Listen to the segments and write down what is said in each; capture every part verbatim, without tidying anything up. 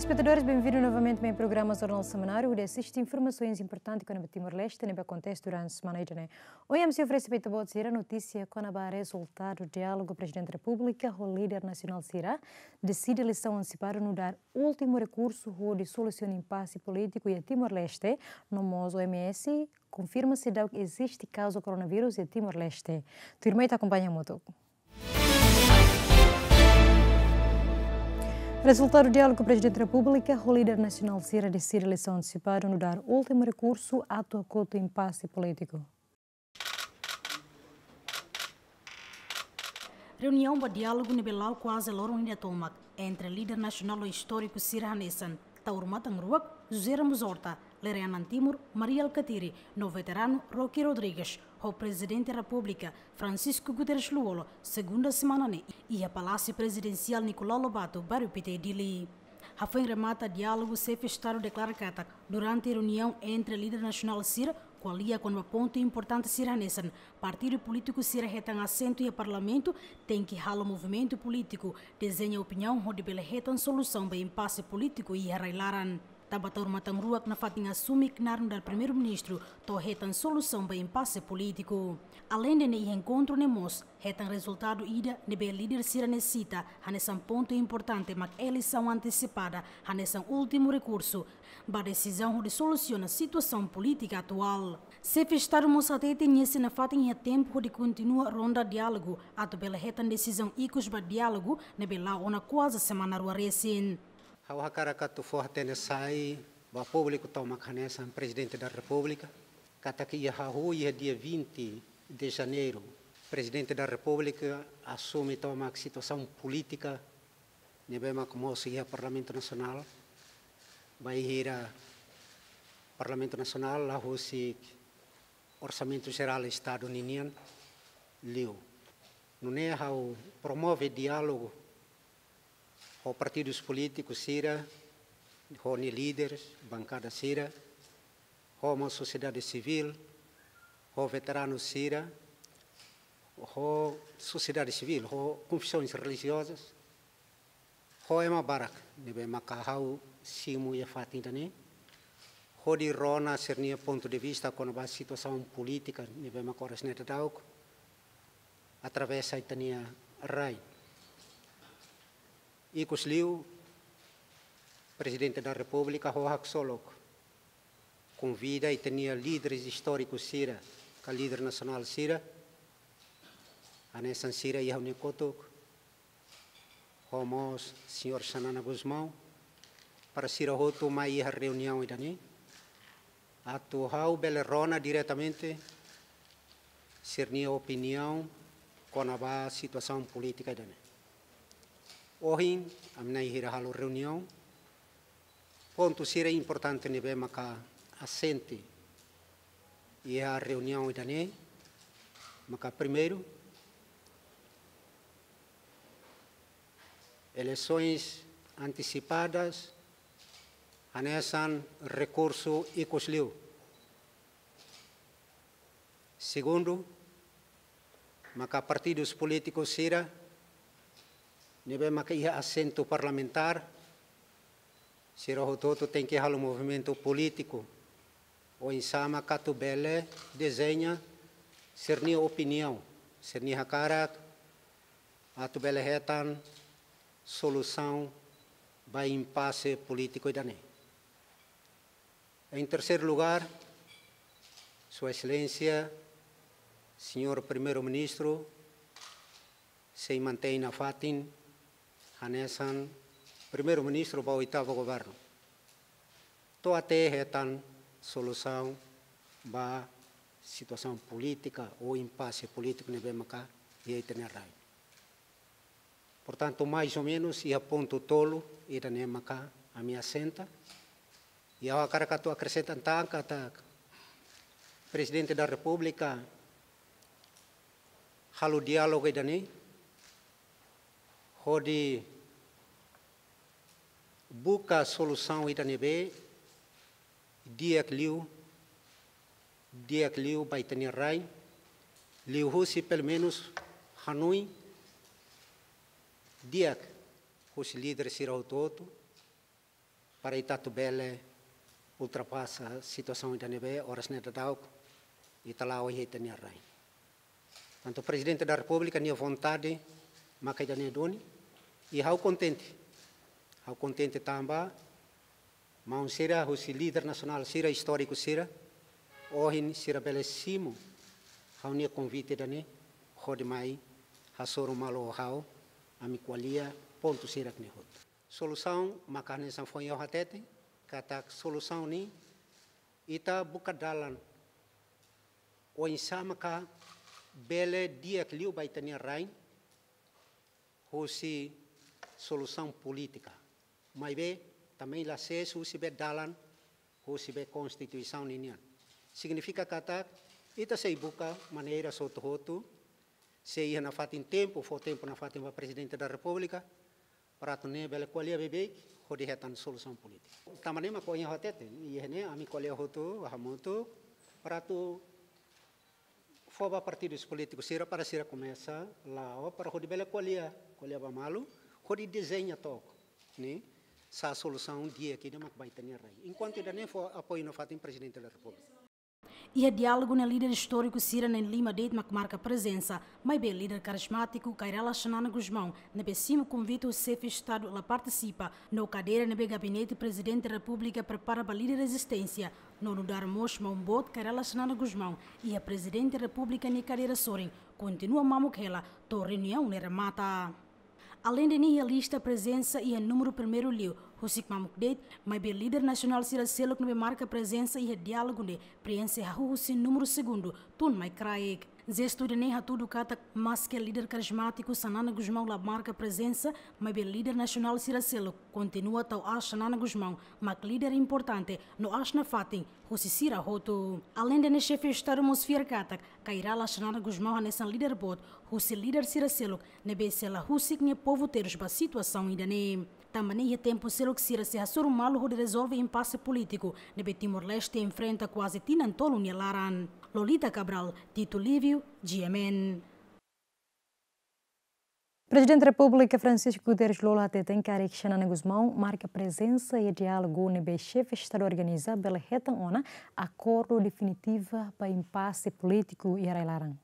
Telespetadores, benvindu novamente ba programa Jornál Semanáriu, hodi asiste informasoens importantes kona-ba Timor-Leste ne'ebé akontese durante semana ida-ne'e. Ohin ami sei oferese ba ita-boot sira notísia kona-ba rezultadu diálogu Prezidente Repúblika ho líder nasionál sira, deside eleisaun antesipada nu'udar últimu rekursu hodi solusiona impase polítiku iha Timor-Leste, no mós O M S konfirma seidauk eziste kazu koronavírus iha Timor-Leste. Tuirmai ita akompaña hamutuk. Rezultadu diálogu Prezidente Repúblika ho líder nasionál sira deside eleisaun antesipada nu'udar últimu rekursu atu hakotu impase polítiku. Reuniaun ba diálogu ne'ebé la'o kuaze loron ida tomak entre líder nasionál ho istóriku sira hanesan Taur Matan Ruak, José Ramos Horta, Lere Anan Timur, Mari Alkatiri, no veteranu Roque Rodrigues, ho Prezidente Repúblika, Francisco Guterres Lú-Olo, segunda semana ne'e, iha Palásiu Prezidensiál Nicolau Lobato, Bairru Pité, Dili. Hafoin remata diálogu, Xefe Estadu deklara katak, durante reuniaun entre líder nasionál sira, ko'alia kona-ba pontu importante sira hanesan partidu polítiku sira hetan asentu iha Parlamentu, tenke halo movimentu polítiku, dezeña opiniaun hodi bele hetan solusaun ba impase polítiku iha rai-laran. Tanba Taur Matan Ruak nafatin asume knaar nu'udar Primeiru-Ministru, to'o hetan solusaun ba impase polítiku. Aleinde ne'e, iha enkontru ne'e mós hetan rezultadu ida ne'ebé líder sira ne'e sita hanesan pontu importante, mak eleisaun antesipada hanesan últimu rekursu ba desizaun hodi solusiona situasaun polítika atuál. Xefe Estadu mós hatete nia sei nafatin iha tempu hodi kontinua ronda diálogu atu bele hetan desizaun ikus ba diálogu ne'ebé la'o ona kuaze semana rua resin. Ha'u hakarak atu fó-hatene sai ba públiku tomak hanesan Prezidente da Repúblika, katak iha hahú iha dia vinte de Janeiro, Prezidente da Repúblika asume tomak situasaun polítika ne'ebé mak mosu iha Parlamentu Nasionál, bainhira Parlamentu Nasionál la husik Orsamentu Jerál Estadu ninian liu. Nune'e ha'u promove diálogu ho partidus polítikus sira, ho nia líderes, bankada sira, ho mós sosiedade sivíl, ho veteranu sira, ho sosiedade sivíl, ho konfesoens relijiozas, ho ema barak ne'ebé maka ha'u simu iha fatin ida-ne'e, hodi rona sira-nia pontu de vista kona-ba situasaun polítika ne'ebé maka oras ne'e daudaun atravesa ita-nia rai. Ikusliu, Prezidente da Repúblika ho haksolok konvida ita-nia líderes istórikus sira, ka líder nasionál sira, hanesan sira iha ha'u-nia kotuk, ho mós señór Xanana Gusmão, para sira hotu mai iha reuniaun ida-ne'e, atu ha'u bele rona diretamente sira-nia opiniaun kona-ba situasaun polítika ida-ne'e. Ohin, ami na'in hira halo reuniaun, pontu sira importante ne'ebé maka asente iha reuniaun ida-ne'e, maka primeiru, eleisoens antesipadas hanesan rekursu ikusliu. Segundu, maka partidus polítikus sira ne'ebé maka iha asentu parlamentár, sira hotu-hotu tenke halo movimentu polítiku oinsá maka atu bele dezeña sira-nia opiniaun, sira-nia hakarak, atu bele hetan solusaun ba impase polítiku ida-ne'e. Em terceiro lugar, Sua Excelência, Señór Primeiru-Ministru, sei mantein nafatin hanesan Primeiru-Ministru ba oitavu governu, to'o até hetan solusaun ba situasaun polítika ou impase polítiku ne'ebé maka iha ita-nia rai. Portantu, mais ou menus, iha pontu tolu ida-ne'e maka ami asenta. I ha'u hakarak atu akresenta tan katak Prezidente da Repúblika halo diálogu ida-ne'e hodi buka solusaun ida ne'ebé di'ak liu, di'ak liu ba ita-nia rai, liuhusi pelumenus hanoin di'ak husi líder sira hotu-hotu, para ita atu bele ultrapasa situasaun ida ne'ebé oras ne'e daudaun ita la'o iha ita-nia rain. Tantu Prezidente da Repúblika nia vontade maka ida-ne'e duni, i ha'u kontente. Ha'u kontente tanba maun sira husi líder nasionál sira istóriku sira, ohin sira bele simu ha'u-nia konvite ida-ne'e hodi mai hasoru malu ho ha'u, ami ko'alia pontu sira-ne'e hotu. Solusaun maka hanesan foin ha'u hatete, katak solusaun ne'e ita buka dalan oinsá maka bele di'ak liu ba ita-nia rain husi solusaun polítika. Maibé também la sees husi be dalan husi be Konstituisaun ninian. Signifika katak ita sei buka maneira hotu-hotu, sei iha nafatin tempu, fó tempu nafatin ba Prezidente da Repúblika, para atu nune'e bele ko'alia beibeik hodi hetan solusaun polítika. Tanba ne'e mak ohin ha'u hatete, iha ne'e ami ko'alia hotu hamutuk para atu fó ba partidus polítikus sira para sira komesa la'o para hodi bele ko'alia, ko'alia ba malu, hodi dezeña took, ne'e, sá solusaun di'ak ida mak ba ita-nia rain. Enkuantu ida-ne'e fó apoiu nafatin Prezidente da Repúblika. Iha diálogu ne'e líder istóriku sira na'in-lima de'it mak marka prezensa, maibé líder karizmátiku Kay Rala Xanana Gusmão ne'ebé simu konvite husi Xefe Estadu la partisipa, no kadeira ne'ebé Gabinete Prezidente Repúblika prepara ba líder rezisténsia, no nu'udar mós maun boot Kay Rala Xanana Gusmão iha Prezidente Repúblika nia kadeira sorin, kontinua mamuk hela to'o reuniaun ne'e remata. Aleinde ne'e iha lista prezensa iha númeru primeiru liu, husik mamuk de'it, maibé líder nasionál sira seluk ne'ebé marka prezensa iha diálogu ne'e preenxe hahú husi númeru segundu, tun mai kraik. Jestu ida-ne'e hatudu katak maske líder karizmátiku Xanana Gusmão la marka prezensa, maibé líder nasionál sira seluk kontinua tau aas Xanana Gusmão mak líder importante no aas nafatin husi sira hotu. Aleinde ne'e Xefe Estadu mós fiar katak Kay Rala Xanana Gusmão hanesan líder boot husi líder sira seluk ne'ebé sei la husik nia povu terus ba situasaun ida-ne'e. Tanba ne'e iha tempu seluk sira sei hasoru malu hodi rezolve impase polítiku ne'ebé Timor-Leste enfrenta kuaze tinan tolu nia laran. Lolita Cabral, Tito Lívio, G M N. Prezidente Repúblika Francisco Guterres Lú hateten katak Xanana Gusmão marka prezensa iha diálogu ne'ebé Xefe Estadu organiza bele hetan ona akordu definitiva ba impase polítiku iha rai-laran.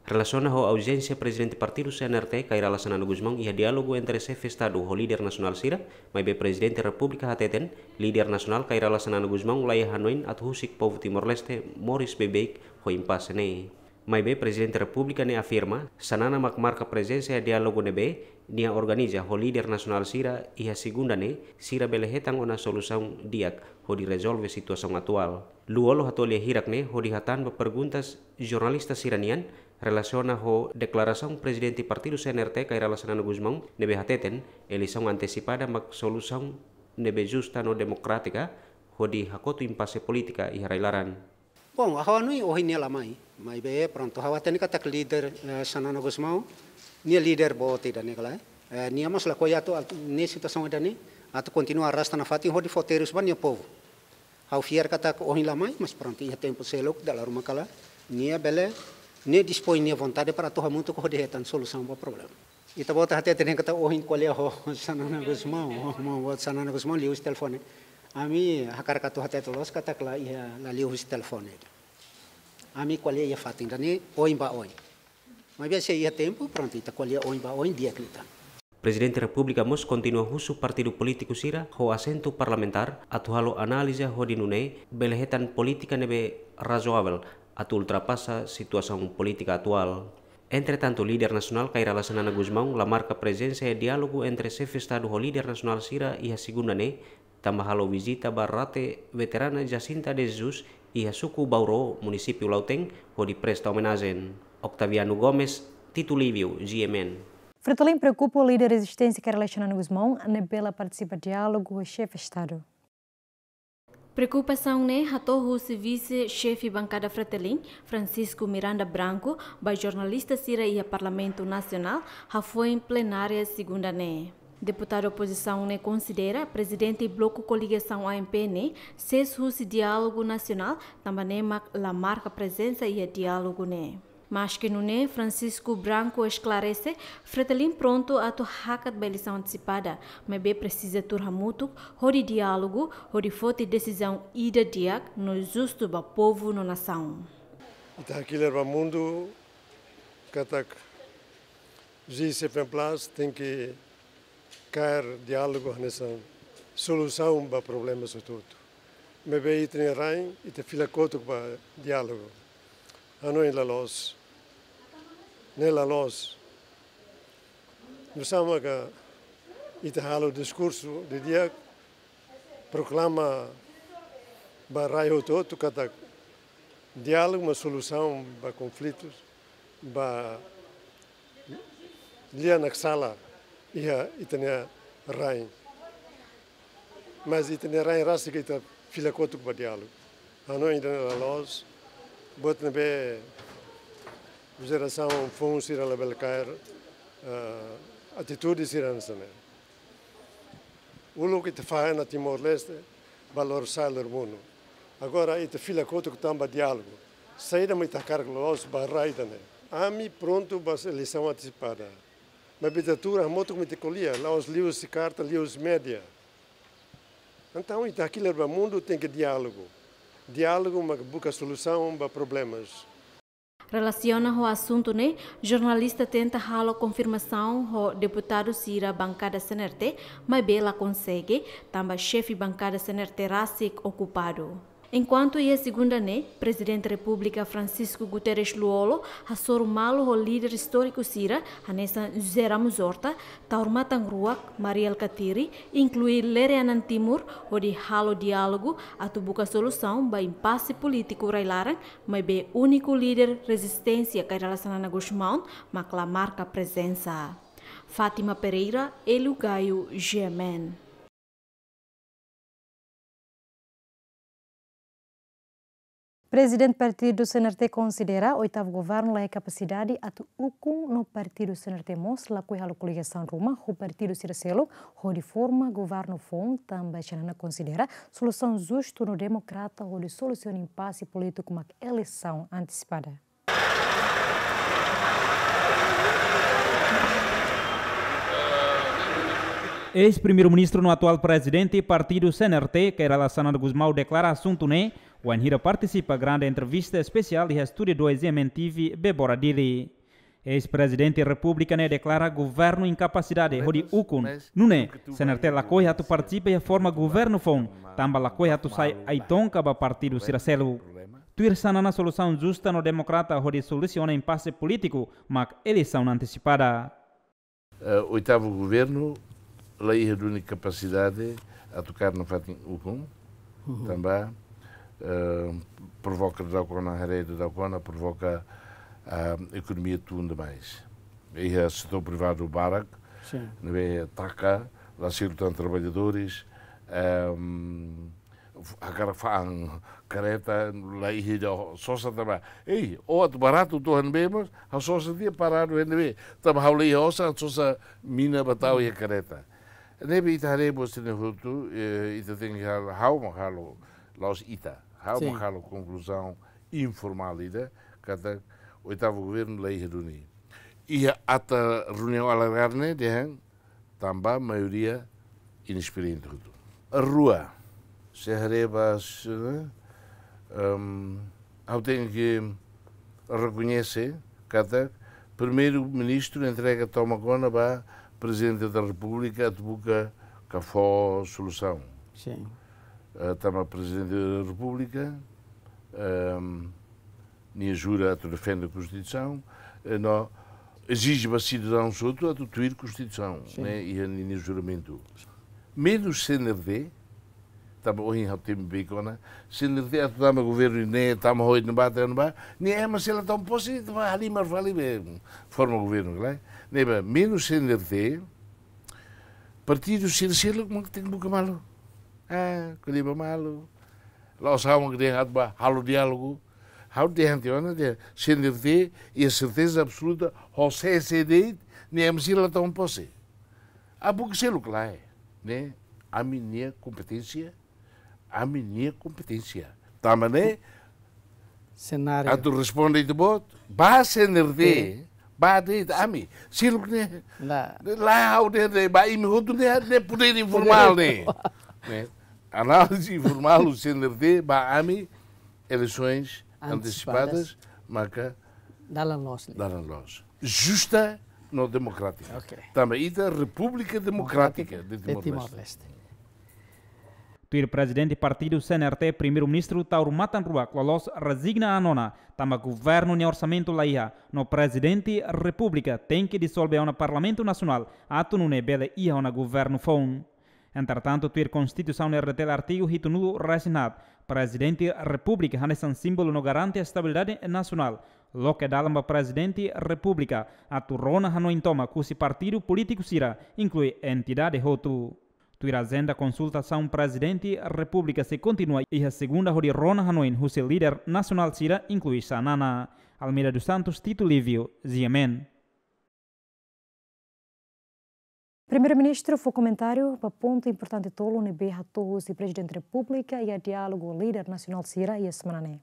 Relasiona ho auzénsia Prezidente Partidu C N R T, Kay Rala Xanana Gusmão, iha diálogu entre Xefe Estadu ho líder nasionál sira, maibé Prezidente Repúblika hateten, líder nasionál Kay Rala Xanana Gusmão laiha hanoin atu husik povu Timor-Leste moris beibeik ho impase ne'e. Maibé Prezidente Repúblika ne'e afirma, Xanana mak marka prezensa iha diálogu ne'ebé nia organiza ho líder nasionál sira iha segunda ne'e, sira bele hetan ona solusaun di'ak hodi rezolve situasaun atuál. Lú Olo hato'o lia hirak ne'e hodi hatán ba perguntas jornalista sira-nian relasiona ho deklarasaun Prezidente Partidu C N R T Kay Rala Xanana Gusmão ne'ebé hateten eleisaun antesipada mak solusaun ne'ebé justa no demokrátika hodi hakotu impase polítika iha rai-laran. Bom, ha'u hanoin ohin nia la mai, maibé prontu ha'u hatene katak líder, eh, Xanana Gusmão, nia líder boot ida-ne'e kala, eh, nia mós lakohi atu, atu, ne'e situasaun ida-ne'e, atu kontinua arrasta nafatin hodi fó terus ba nia povu. Ha'u fiar katak ohin la mai, mas prontu, iha tempu seluk dala ruma kala, nia bele, nia dispoin nia vontade para atu hamutuk hodi hetan solusaun ba problema. Ita-boot hatete dehan katak ohin ko'alia ho Xanana Gusmão, ho, ho, ho Xanana Gusmão liuhusi telefone. Ami hakarak atu hatete loos katak la iha, la liuhusi telefone. Ami ko'alia iha fatin ida-ne'e oin ba oin. Maibé se iha tempu, prontu, ita ko'alia oin ba oin di'ak liután. Prezidente Repúblika mós kontinua husu partidu polítiku sira ho asentu parlamentár atu halo análize hodi nune'e bele hetan polítika ne'ebé razoavel atu ultrapasa situasaun polítika atuál. Entretantu, líder nasionál Kay Rala Xanana Gusmão la marka prezensa iha diálogu entre Xefe Estadu ho líder nasionál sira iha segunda ne'e, tanba halo vizita ba rate veterana Jacinta de Jesus iha suku Bauru, munisípiu Lautém, hodi presta omenajen. Octaviano Gomes, Tito Lívio, G M N. Fretilin preokupa líder rezisténsia Kay Rala Xanana Gusmão ne'ebé la partisipa diálogu ho Xefe Estadu. Preokupasaun ne'e hato'o husi Vise-Xefe Bankada Fretilin, Francisco Miranda Branco, ba jornalista sira iha Parlamentu Nasionál, hafoin plenária segunda ne'e. Deputadu opozisaun ne'e konsidera Prezidente Bloku Koligasaun A M P ne'e sees husi diálogu nasionál, tanba ne'e mak la marka prezensa iha diálogu ne'e. Maske nune'e, Francisco Branco esklarese, Fretilin prontu atu hakat ba eleisaun antesipada, maibé presiza tuur hamutuk, hodi diálogu, hodi foti desizaun ida di'ak no justu ba povu no nasaun. Ita hakilar ba mundu katak G seven plus tenke kaer diálogu hanesan solusaun ba problemas hotu-hotu. Maibé ita-nia rain, ita fila kotuk ba diálogu. Hanoin la loos. Ne'e la loos. Nusá maka ita halo diskursu didi'ak, proklama ba rai hotu-hotu katak diálogu mak solusaun ba konflitus, ba lia naksala iha ita-nia rain. Mas ita-nia rain rasik ita fila kotuk ba diálogu. Hanoin ida-ne'e la loos, buat ne'ebé jerasaun foun sira labele kaer, eh, atitude sira hanesan ne'e. Uluk ita fahe ona Timor-Leste, ba lor sa'e lor monu. Agora ita fila kotuk tanba diálogu. Saida mak ita hakarak loloos ba rai ida-ne'e. Ami prontu ba eleisaun antesipada. Maibé ita tuur hamutuk mak ita ko'alia, la'ós liuhusi karta, liuhusi média. Entaun ita hakilar ba mundu tenke diálogu. Diálogu mak buka solusaun ba problemas. Relasiona ho asuntu ne'e, jornalista tenta halo konfirmasaun ho deputadu sira bankada C N R T, maibé la konsege, tanba xefe bankada C N R T rasik okupadu. Enkuantu iha segunda ne'e, Prezidente Repúblika Francisco Guterres Lú-Olo hasoru malu ho líder istóriku sira, hanesan José Ramos Horta, Taur Matan Ruak, Mari Alkatiri, inklui Lere Anan Timur, hodi halo diálogu atu buka solusaun ba impase polítiku rai-laran, maibé úniku líder rezisténsia Kay Rala Xanana Gusmão mak la marka prezensa. Fátima Pereira, Hélio Gaio, G M N. Prezidente partidu C N R T konsidera oitavu governu la iha kapasidade atu ukun no partidu C N R T mós lakohi halo koligasaun ruma ho partidu sira seluk hodi forma governu foun, tanba Xanana konsidera solusaun justu no demokrata hodi solusiona impase polítiku mak eleisaun antesipada. Eis-Primeiru-Ministru no atuál Prezidente partidu C N R T, Kay Rala Xanana Gusmão, deklara asuntu ne'e wainhira partisipa grande entrevista espesiál iha Estúdiu dois G M N T V, Bebora Dili. Eis-Prezidente Repúblika ne'e deklara governu inkapasidade hodi ukun. Nune'e, C N R T lakohi atu partisipa iha forma governu foun, tanba lakohi atu sai ai-tonka ba partidu sira seluk. Tuir Xanana, solusaun justa no demokrata hodi solusiona impase polítiku mak eleisaun antesipada. Eh, oitavu governu la iha duni kapasidade atu kaer nafatin ukun, tanba, eh, provoka daudaun ona, haree daudaun ona, provoka, ah, ekonomia tun demais. Iha setór privadu barak, sin, ne'ebé taka, la selu tan traballadores, ehm, hakarak fa'an kareta, la iha ida sosa tanba. Ei, ó atu baratu to'o iha ne'ebé mós, ha'u sosa tiha paradu iha ne'ebé. Tanba ha'u la iha osan, sosa mina ba tau iha kareta. Ne'ebé ita haree buat sira-ne'e hotu, eh, ita tenke halo, ha'u mak halo, la'ós ita. Ha'u mak, sin, halo konkluzaun informál ida, katak oitavu governu la iha duni. Iha ata reuniaun alargada ne'e dehan, tanba maioria inesperiente hotu. Rua, se haree ba, se, ehm, ha'u tenke rekoñese katak Primeiru-Ministru entrega tomak ona ba Prezidente da Repúblika atu buka ka fó solusaun. Sin. Eh, tanba Prezidente da Repúblika, ehm, nia jura atu defende Konstituisaun, eh, no ezije ba sidadaun hotu atu tuir Konstituisaun, sin, ne'e iha ninia juramentu. Menus C N R T, tanba ohin ha'u temi beik ona, C N R T atu tama governu ne'e, tama ho ida-ne'ebá, ida-ne'ebá, nia ema sei la toma pose, ita ba halimar fali be forma governu, klaru? Ne'ebé, menus C N R T, partidu sira seluk mak tenke buka malu. Ah, ko'alia ba malu. La'ós ha'u mak dehan atu ba halo diálogu. Ha'u dehan tiha ona dehan, C N R T iha serteza absoluta, ho C C D, nia ema sira la toma pose. Ah, buka seluk lae, ne'e, ami-nia kompeténsia, ami-nia kompeténsia. Tanba ne'e, Senáriu. Atu responde ita-boot, ba C N R T, ba de'it ami. Seluk ne'e, la ha'u de'it, ba imi hotu ne'e, ne'e podér informál ne'e. Ne'e. Análize informál husi C N R T ba ami, eleisoens antesipadas, maka dalan loos. Dalan loos. Justa no demokrátika. Ok. Tanba ita Repúblika Demokrátika de Timor-Leste. Tuir Prezidente Partidu C N R T, Primeiru-Ministru Taur Matan Ruak loloos rezigna an ona, tanba governu nia orsamentu la iha, no Prezidente Repúblika tenke disolve ona Parlamentu Nasionál, atu nune'e bele iha ona governu foun. Entretantu, tuir Konstituisaun R D T L artigu hitunulu-resin-haat, Prezidente Repúblika hanesan símbolu no garante estabilidade nasionál, loke dalan ba Prezidente Repúblika atu rona hanoin tomak husi partidu polítiku sira, inklui entidade hotu. Tuir ajenda konsultasaun, Prezidente Repúblika sei kontinua iha segunda hodi rona hanoin husi líder nasionál sira, inklui Xanana. Almeida dos Santos, Tito Livio, G M N. Primeiru-Ministru fó komentáriu ba pontu importante tolu ne'ebé hato'o husi Prezidente Repúblika iha diálogu líder nasionál sira iha semana ne'e.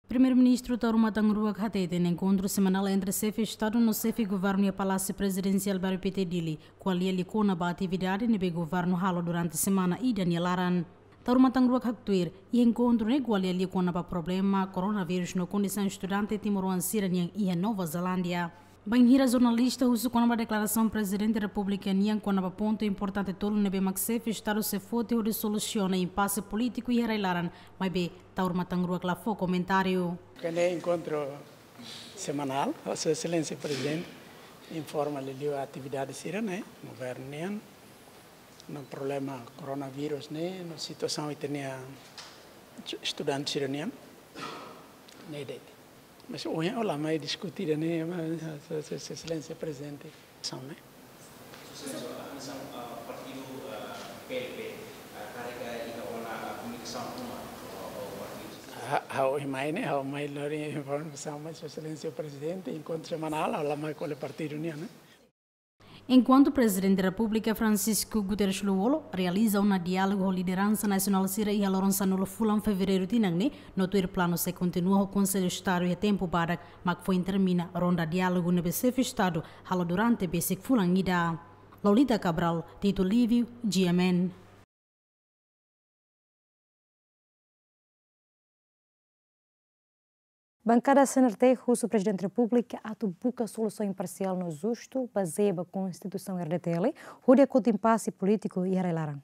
Primeiru-Ministru Taur Matan Ruak hateten enkontru semanál entre Xefe Estadu no Xefe Governu iha Palásiu Prezidensiál Bairru Pité, Dili, ko'alia liu kona-ba atividade ne'ebé governu halo durante semana ida nia laran. Taur Matan Ruak haktuir, iha enkontru ne'e ko'alia liu kona-ba problema koronavírus no kondisaun estudante timoroan sira-nian iha Nova Zelándia. Bainhira jornalista husu kona-ba deklarasaun Prezidente Repúblika nian kona-ba pontu importante tolu ne'ebé mak Xefe Estadu sei foti hodi solusiona impase polítiku iha rai-laran, maibé Taur Matan Ruak la fó komentáriu. Ne'e enkontru semanál, Sua Exelénsia Prezidente informa liuliu atividade sira-ne'e, governu nian, no problema koronavírus ne'e, no situasaun ita-nia estudante sira-nian, ne'e de'it. Mas ohin ha'u la mai diskute ida-ne'e, mas, Sua, Sua, Sua Exelénsia Prezidente. São, né? Sua Exelénsia, ah, partidu, ah, P L P, ah, karik iha ona, ah, komunikasaun ruma ho, ho partidu? Ha, ha'u mai ne'e, ha'u mai lori informasaun mai Sua Exelénsia Prezidente, enkontru semanál, ha'u la mai ko'alia partidu nian, né? Enkuantu Prezidente Repúblika Francisco Guterres Lú-Olo realiza ona diálogu ho lideransa nasionál sira iha loron sanulu fulan Fevereiru tinan ne'e, no tuir planu sei kontinua ho Konsellu Estadu iha tempu badak, mak foin termina ronda diálogu ne'ebé Xefe Estadu halo durante besik fulan ida. Lolita Cabral, Tito Livio, G M N. Bankada C N R T husu Prezidente Repúblika atu buka solusaun imparsiál no justu, bazeia ba Konstituisaun R D T L, hodi hakotu impase polítiku iha rai-laran.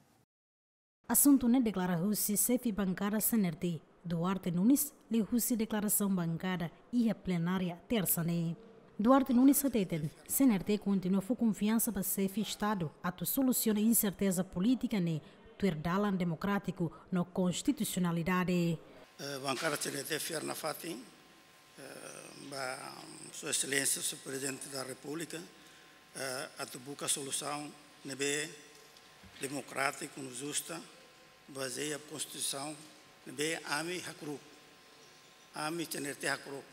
Asuntu ne'e deklara husi xefe bankada C N R T, Duarte Nunes, liuhusi deklarasaun bankada iha plenária tersa ne'e. Duarte Nunes hateten, C N R T kontinua fó konfiansa ba Xefe Estadu atu solusiona inserteza polítika ne'e tuir dalan demokrátiku no konstitusionalidade. Eh, bankada C N R T fiar nafatin, eh, ba Sua Exelénsia Señór Prezidente da Repúblika, eh, atu buka solusaun ne'ebé demokrátiku no justa, bazeia Konstituisaun ne'ebé ami hakru'uk, ami C N R T hakru'uk.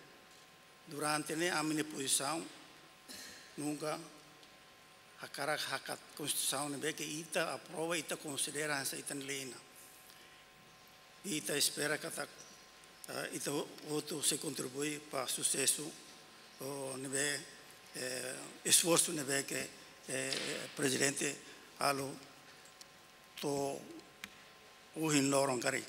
Durante ne'e ami-nia pozisaun nunka hakarak hakat Konstituisaun ne'ebé ke ita aprova, ita konsidera hanesan ita-nia lei nian. Ita espera katak, eh, ita hotu sei kontribui ba susesu, oh, ne'ebé, eh, esforsu ne'ebé ke, eh, Prezidente halo to'o ohin loron karik.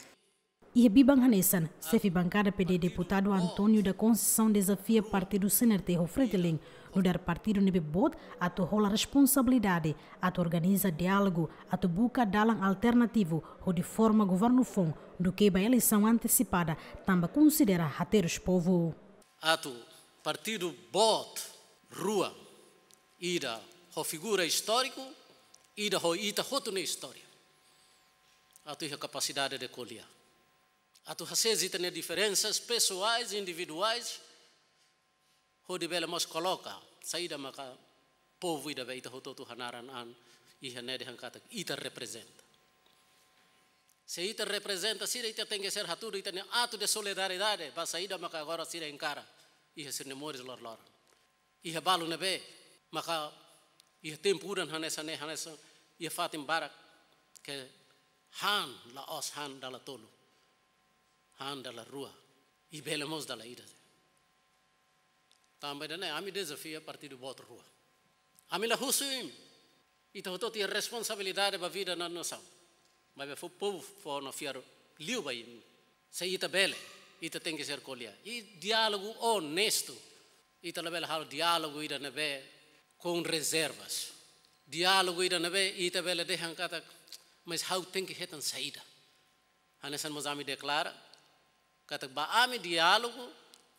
Iha biban hanesan, xefe bankada P D deputadu António da Conceição dezafia partidu C N R T ho Fretilin, nu'udar partidu ne'ebé boot atu hola responsabilidade atu organiza diálogu atu buka dalan alternativu hodi forma governu foun duké ba eleisaun antesipada, tanba konsidera haterus povu. Atu partidu boot rua, ida ho figura istóriku, ida ho ita hotu nia istória. Atu iha kapasidade de ko'alia. Atu hasees ita-nia diferensas pesoais, individuais, hodi bele mós koloka saida maka povu ida be ita hotu-hotu hanaran an iha ne'e dehan katak ita reprezenta. Se ita reprezenta sira, ita tenke ser hatudu ita-nia atu de solidariedade ba saida maka agora sira enkara iha sira-nia moris loroloron. Iha balu ne'ebé maka iha tempu udan hanesan ne'e, hanesan iha fatin barak ke han la'ós han dala tolu, han dala rua. I bele mós dala ida. Tanba ida-ne'e ami dezafia partidu boot rua. Ami la husu imi. Ita hotu-hotu iha responsabilidade ba vida no nasaun. Maibé fó povu fó ona fiar liu ba imi. Se ita bele, ita tenke ser ko'alia. I diálogu onestu. Ita labele halo diálogu ida ne'ebé com reservas. Diálogu ida ne'ebé ita bele dehan katak, mas ha'u tenke hetan saida. Hanesan mós ami deklara katak ba ami diálogu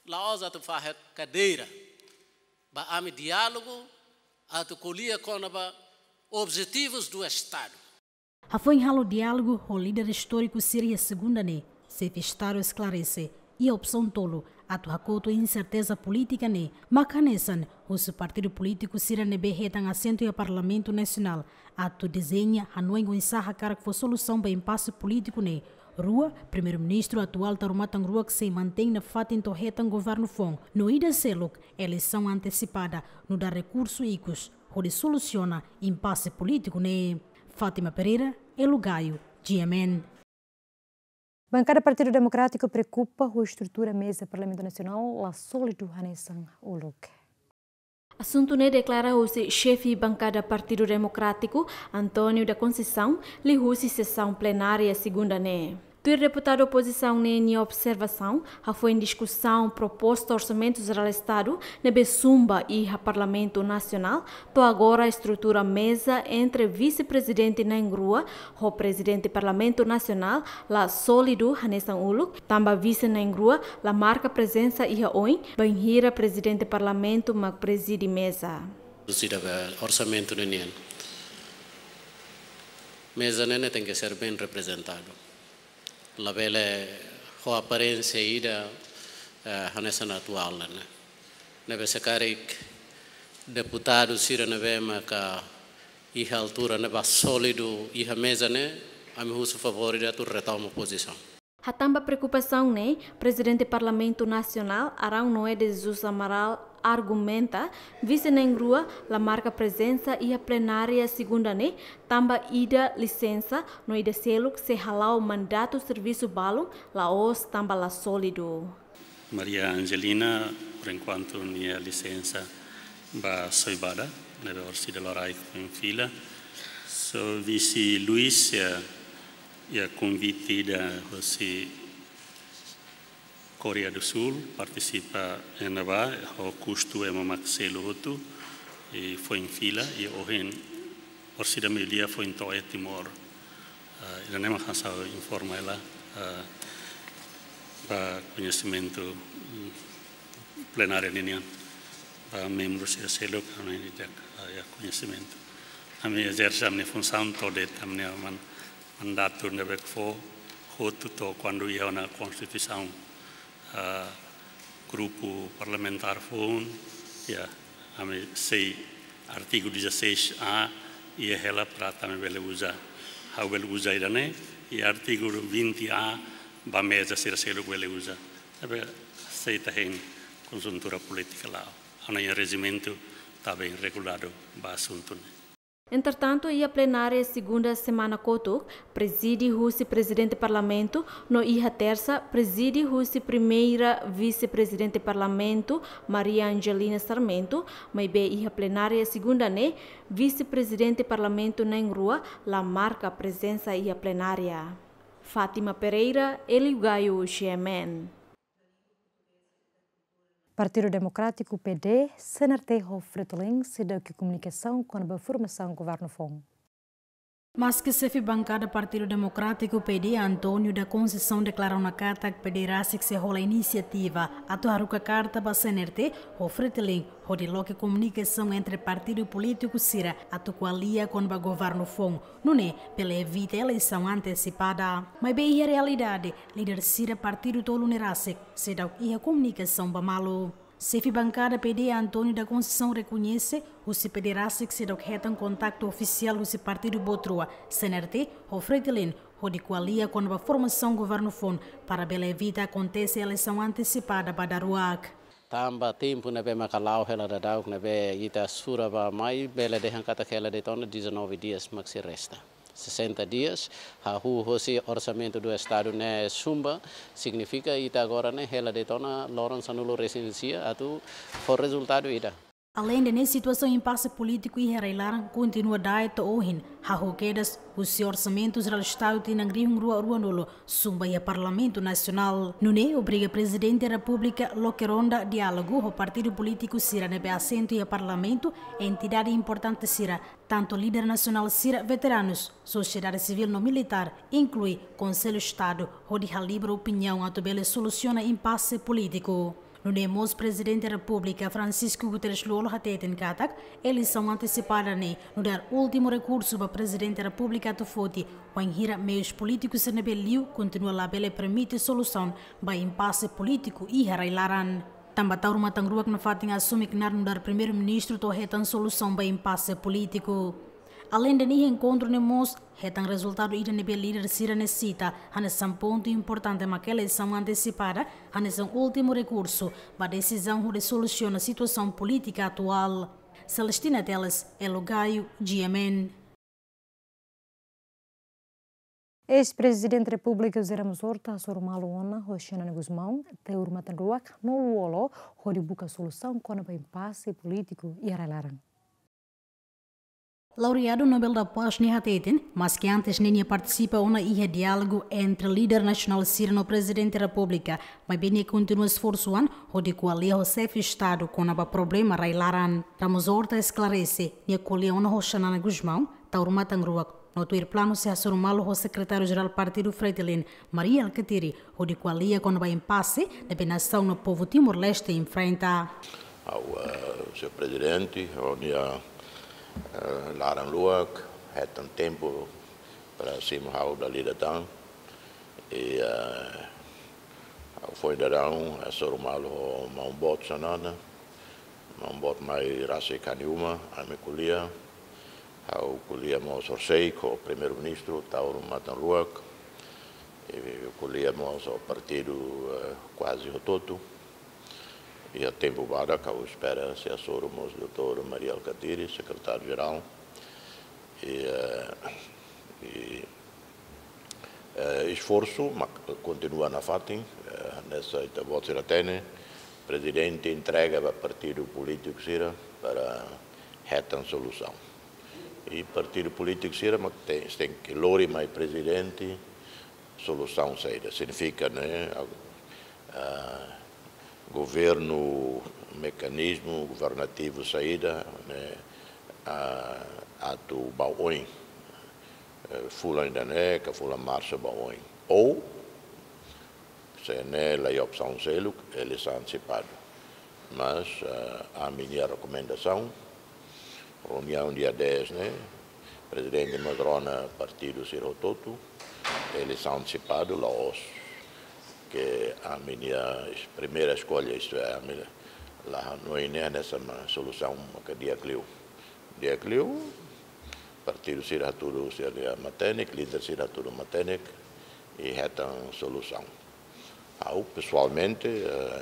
la'ós atu fahe kadeira. Ba ami diálogu atu ko'alia kona-ba objetivus do Estadu. Hafoin halo diálogu ho líder istóriku sira iha segunda ne'e, xefe Estadu esklarese iha opsaun tolu atu hakotu inserteza polítika ne'e, mak hanesan husu partidu polítiku sira ne'ebé hetan asentu iha Parlamentu Nasionál atu dezeña hanoin oinsá hakarak fó solusaun ba impase polítiku ne'e. Rua, Primeiru-Ministru atuál Taur Matan Ruak sei mantein nafatin to'o hetan governu foun. No ida seluk, eleisaun antesipada nu'udar rekursu ikus hodi solusiona impase polítiku ne'e. Fátima Pereira, Elo Gaio, G M N. Bankada Partidu Demokrátiku preokupa ho estrutura meza Parlamentu Nasionál la sólidu hanesan uluk. Asuntu ne'e deklara husi xefe bankada Partidu Demokrátiku, António da Conceição, liuhusi sesaun plenária segunda ne'e. Tuir deputadu opozisaun ne'e nia observasaun, hafoin diskusaun proposta Orsamentu Jerál Estadu ne'ebé zumba iha Parlamentu Nasionál, to'o agora estrutura meza entre vise-prezidente na'in-rua ho prezidente Parlamentu Nasionál la sólidu hanesan uluk, tanba vise na'in-rua la marka prezensa iha oin, bainhira prezidente parlamentu mak prezide meza. Sida be orsamentu ne'e nian. Meza ne'e tenke ser bem representadu. Labele ho aparénsia ida, eh, hanesan atuál ne'e. Ne'ebé se karik deputadu sira ne'ebé maka iha altura ne'ebá sólidu iha meza ne'e, ami husu favór ida atu retoma pozisaun. Hatán ba preokupasaun ne'e, Prezidente Parlamentu Nasionál, Arão Noé de Jesus Amaral, argumenta, vise na'in-rua la marka prezensa iha plenária segunda ne'e, tanba ida lisensa, no ida seluk sei hala'o mandatu servisu balun, la'ós tanba la sólidu. Maria Angelina, por enquanto, nia lisensa ba Soibada, ne'ebé orsida loraik foin fila. Só vise Luis, iha, iha konvite ida husi Koreia do Sul, partisipa iha ne'ebá, ho kustu ema mak selu hotu, i foin fila, i ohin, orsida meiudia foin to'o iha Timor. Ah, ida-ne'e mak hanesan informa hela, ah, ba koñesimentu, mm, plenária ninian, ba membru sira seluk, ami ida, ah, iha koñesimentu. Ami ezerse ami-nia funsaun to'o de'it ami-nia man-, mandatu ne'ebé fó hotu to'o kuandu iha ona Konstituisaun, ah, grupu parlamentár foun, iha, ami sei artigu dezasseis A, iha hela para atu ami bele uza. Ha'u bele uza ida-ne'e, i artigu vinte A, ba meza sira seluk bele uza. Ne'ebé sei ita hein konjuntura polítika la'o. Ami-nia rejimentu tabeen reguladu ba asuntu ne'e. Entretantu, iha plenária segunda semana kotuk, prezide husi Prezidente Parlamentu, no iha tersa, prezide husi Primeira Vise-Prezidente Parlamentu, Maria Angelina Sarmento, maibé iha plenária segunda ne'e, Vise-Prezidente Parlamentu na'in-rua la marka prezensa iha plenária. Fátima Pereira, Hélio Gaio, G M N. Partidu Demokrátiku, P D, C N R T ho Fretilin seidauk iha komunikasaun kona-ba formasaun governu foun. Maske xefe bankada Partidu Demokrátiku, P D, António da Conceição deklara ona katak P D rasik sei hola inisiativa atu haruka karta ba C N R T ho Fretilin hodi loke komunikasaun entre partidu polítiku sira atu ko'alia kona-ba governu foun, nune'e bele evita eleisaun antesipada. Maibé iha realidade, líder sira partidu tolu ne'e rasik seidauk iha komunikasaun ba malu. Xefe bankada P D António da Conceição rekoñese husi P D rasik seidauk hetan kontaktu ofisiál husi partidu boot rua, C N R T ho Fretilin, hodi ko'alia kona-ba formasaun governu foun para bele evita akontese eleisaun antesipada ba daruak. Tanba tempu ne'ebé maka la'o hela daudauk ne'ebé ita sura ba mai bele dehan katak hela de'it ona dezanove dias mak sei resta. sesenta dias, hahú hosi orsamentu do estadu ne'e sumba, signifika ita agora ne'e hela de'it ona loron sanulu resin sia atu fó rezultadu ida. Aleinde ne'e, situasaun impase polítiku iha rai-laran kontinua da'et to'o ohin, hahú kedas husi orsamentu jerál estadu tinan rihun rua ruanulu sumba iha Parlamentu Nasionál. Nune'e obriga Prezidente Repúblika loke ronda diálogu ho partidu polítiku sira ne'ebé asentu iha Parlamentu, entidade importante sira, tantu líder nasionál sira, veteranus, sosiedade sivíl no militár, inklui Konsellu Estadu, hodi halibra opiniaun atu bele solusiona impase polítiku. Nune'e mós Prezidente Repúblika Francisco Guterres Lú-Olo hateten katak eleisaun antesipada ne'e nu'udar últimu rekursu ba Prezidente Repúblika atu foti, wainhira meius polítikus sira ne'ebé liu kontinua labele permite solusaun ba impase polítiku iha rai-laran. Tanba Taur Matan Ruak nafatin asume knaar nu'udar Primeiru-Ministru to'o hetan solusaun ba impase polítiku. Aleinde ne'e, enkontru ne'e mós hetan rezultadu ida ne'ebé líder sira ne'e sita hanesan pontu importante mak eleisaun antesipada hanesan últimu rekursu ba desizaun hodi solusiona situasaun polítika atuál. Celestina Teles, Elo Gaio, G M N. Eis-Prezidente Repúblika José Ramos Horta hasoru malu ona ho Xanana Gusmão, Taur Matan Ruak no Lú-Olo hodi buka solusaun kona-ba impase polítiku iha rai-laran. Laureadu Nobel da Paz ne'e hateten, maski antes ne'e nia partisipa ona iha diálogu entre líder nasionál sira no Prezidente Repúblika, maibé nia kontinua esforsu an hodi ko'alia ho xefe Estadu kona-ba problema rai-laran. Ramos Horta esklarese, nia ko'alia ona ho Xanana Gusmão, Taur Matan Ruak, no tuir planu sei hasoru malu ho Sekretáriu-Jerál Partidu Fretilin, Mari Alkatiri, hodi ko'alia kona-ba impase ne'ebé nasaun no povu Timor-Leste enfrenta. Ha'u, eh, señór Prezidente, ha'u-nia, eh, laran luak, hetan tempu para simu ha'u dala ida tan. I, eh, ha'u foin daudaun, eh, hasoru malu ho maun boot Xanana, maun boot mai rasik ha'u-nia uma, ami ko'alia, ha'u ko'alia mós horisehik ho Primeiru-Ministru Taur Matan Ruak, i ko'alia mós ho partidu, eh, kuaze hotu-hotu. Iha tempu badak ha'u espera sei hasoru mós doutór Mari Alkatiri, Sekretáriu-Jerál. I, eh, i, eh, esforsu mak kontinua nafatin, eh, hanesan ita-boot sira hatene, Prezidente entrega ba partidu polítiku sira para hetan solusaun. I partidu polítiku sira mak te-, tenke lori mai Prezidente solusaun saida. Signifika, ne'e, a, a, governu, mekanizmu governativu saida, ne'e, a, atu ba oin, eh, fulan ida-ne'e ka fulan Marsu ba oin. Ou, se ne'e laiha opsaun seluk, eleisaun antesipada. Mas, eh, ami-nia rekomendasaun, reuniaun dia dez ne'e, Prezidente mós rona partidu sira hotu-hotu, eleisaun antesipada la'ós. Ke ami-nia es-, primeira eskolha, isto é, ami la hanoin ne'e hanesan solusaun mak di'ak liu. Di'ak liu, partidu sira hatudu sira-nia matenek, líder sira hatudu matenek, i hetan solusaun. Ha'u pesoalmente, eh,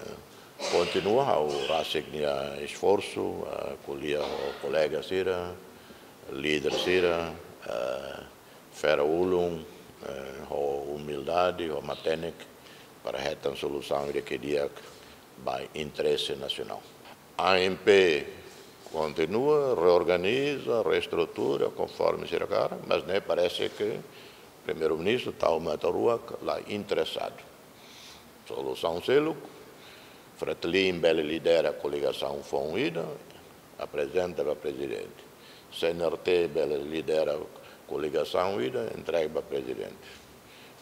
kontinua ha'u rasik nia esforsu, eh, ko'alia ho kolega sira, líder sira, eh, fera ulun, eh, ho umildade, ho matenek, para hetan solusaun ida ke di'ak ba interese nasionál. A M P kontinua, reorganiza, reestrutura, konforme sira hakarak, mas ne'e parese ke Primeiru-Ministru Taur Matan Ruak la interesadu. Solusaun seluk, Fretilin bele lidera koligasaun foun ida, aprezenta ba Prezidente. C N R T bele lidera koligasaun ida, entrega ba Prezidente.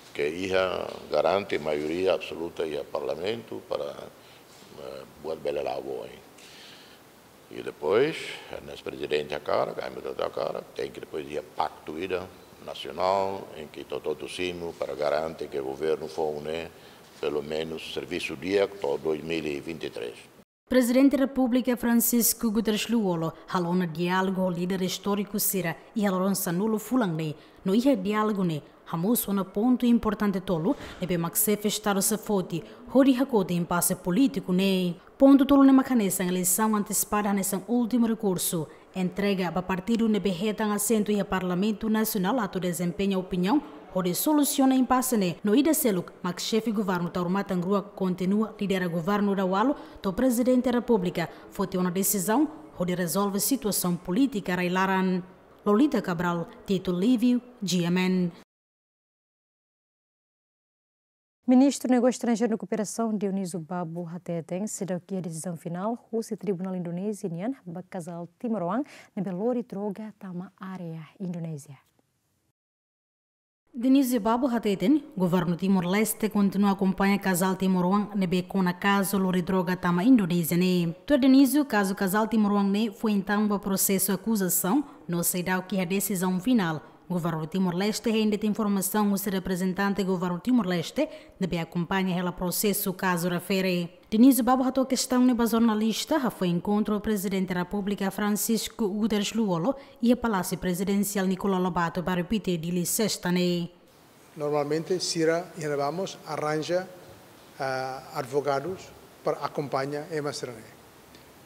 Ke iha garante maioria absoluta iha Parlamentu para, eh, buat bele la'o ba oin. I depois, hanesan Prezidente hakarak, ami hotu hakarak, tenke depois iha paktu ida nasionál, em que ita hotu-hotu simu para garante ke governu foun ne'e, pelumenus, servisu di'ak to'o dois mil e vinte e três. Prezidente Repúblika Francisco Guterres Lú-Olo halo ona diálogu ho líder istóriku sira iha loron sanulu fulan ne'e, no iha diálogu ne'e hamosu ona pontu importante tolu ne'ebé mak xefe Estadu sei foti hodi hakotu impase polítiku ne'e. Pontu tolu ne'e mak hanesan eleisaun antesipada hanesan últimu rekursu, entrega ba partidu ne'ebé hetan asentu iha Parlamentu Nasionál atu dezempeña opiniaun hodi solusiona impase ne'e, no ida seluk mak xefe governu Taur Matan Ruak kontinua lidera governu daudaun to'o Prezidente Repúblika foti ona desizaun hodi rezolve situasaun polítika rai-laran. Lolita Cabral, Tito Livio, G M N. Ministru Negósiu Estranjeiru no Kooperasaun, Dionísio Babo, hateten seidauk iha desizaun finál husi Tribunál Indonézia nian ba kazál timoroan ne'ebé lori droga tama área Indonézia. Dionísio Babo hateten, governu Timor-Leste kontinua akompaña kazál timoroan ne'ebé kona kazu lori droga tama Indonézia ne'e. Tuir Dionísio, kazu kazál timoroan ne'e foin tama ba prosesu akuzasaun, no seidauk iha desizaun finál. Governu Timor-Leste hein de'it informasaun husi reprezentante governu Timor-Leste ne'ebé akompaña hela prosesu kazu refere. Dionísio Babo hato'o kestaun ne'e ba jornalista hafoin enkontru ho Prezidente Repúblika Francisco Guterres Lú-Olo iha Palásiu Prezidensiál Nicolau Lobato, bairru Pité, Dili, sesta ne'e. Normalmente sira iha ne'ebá mós arranja, ah, advogadus para akompaña ema sira-ne'e.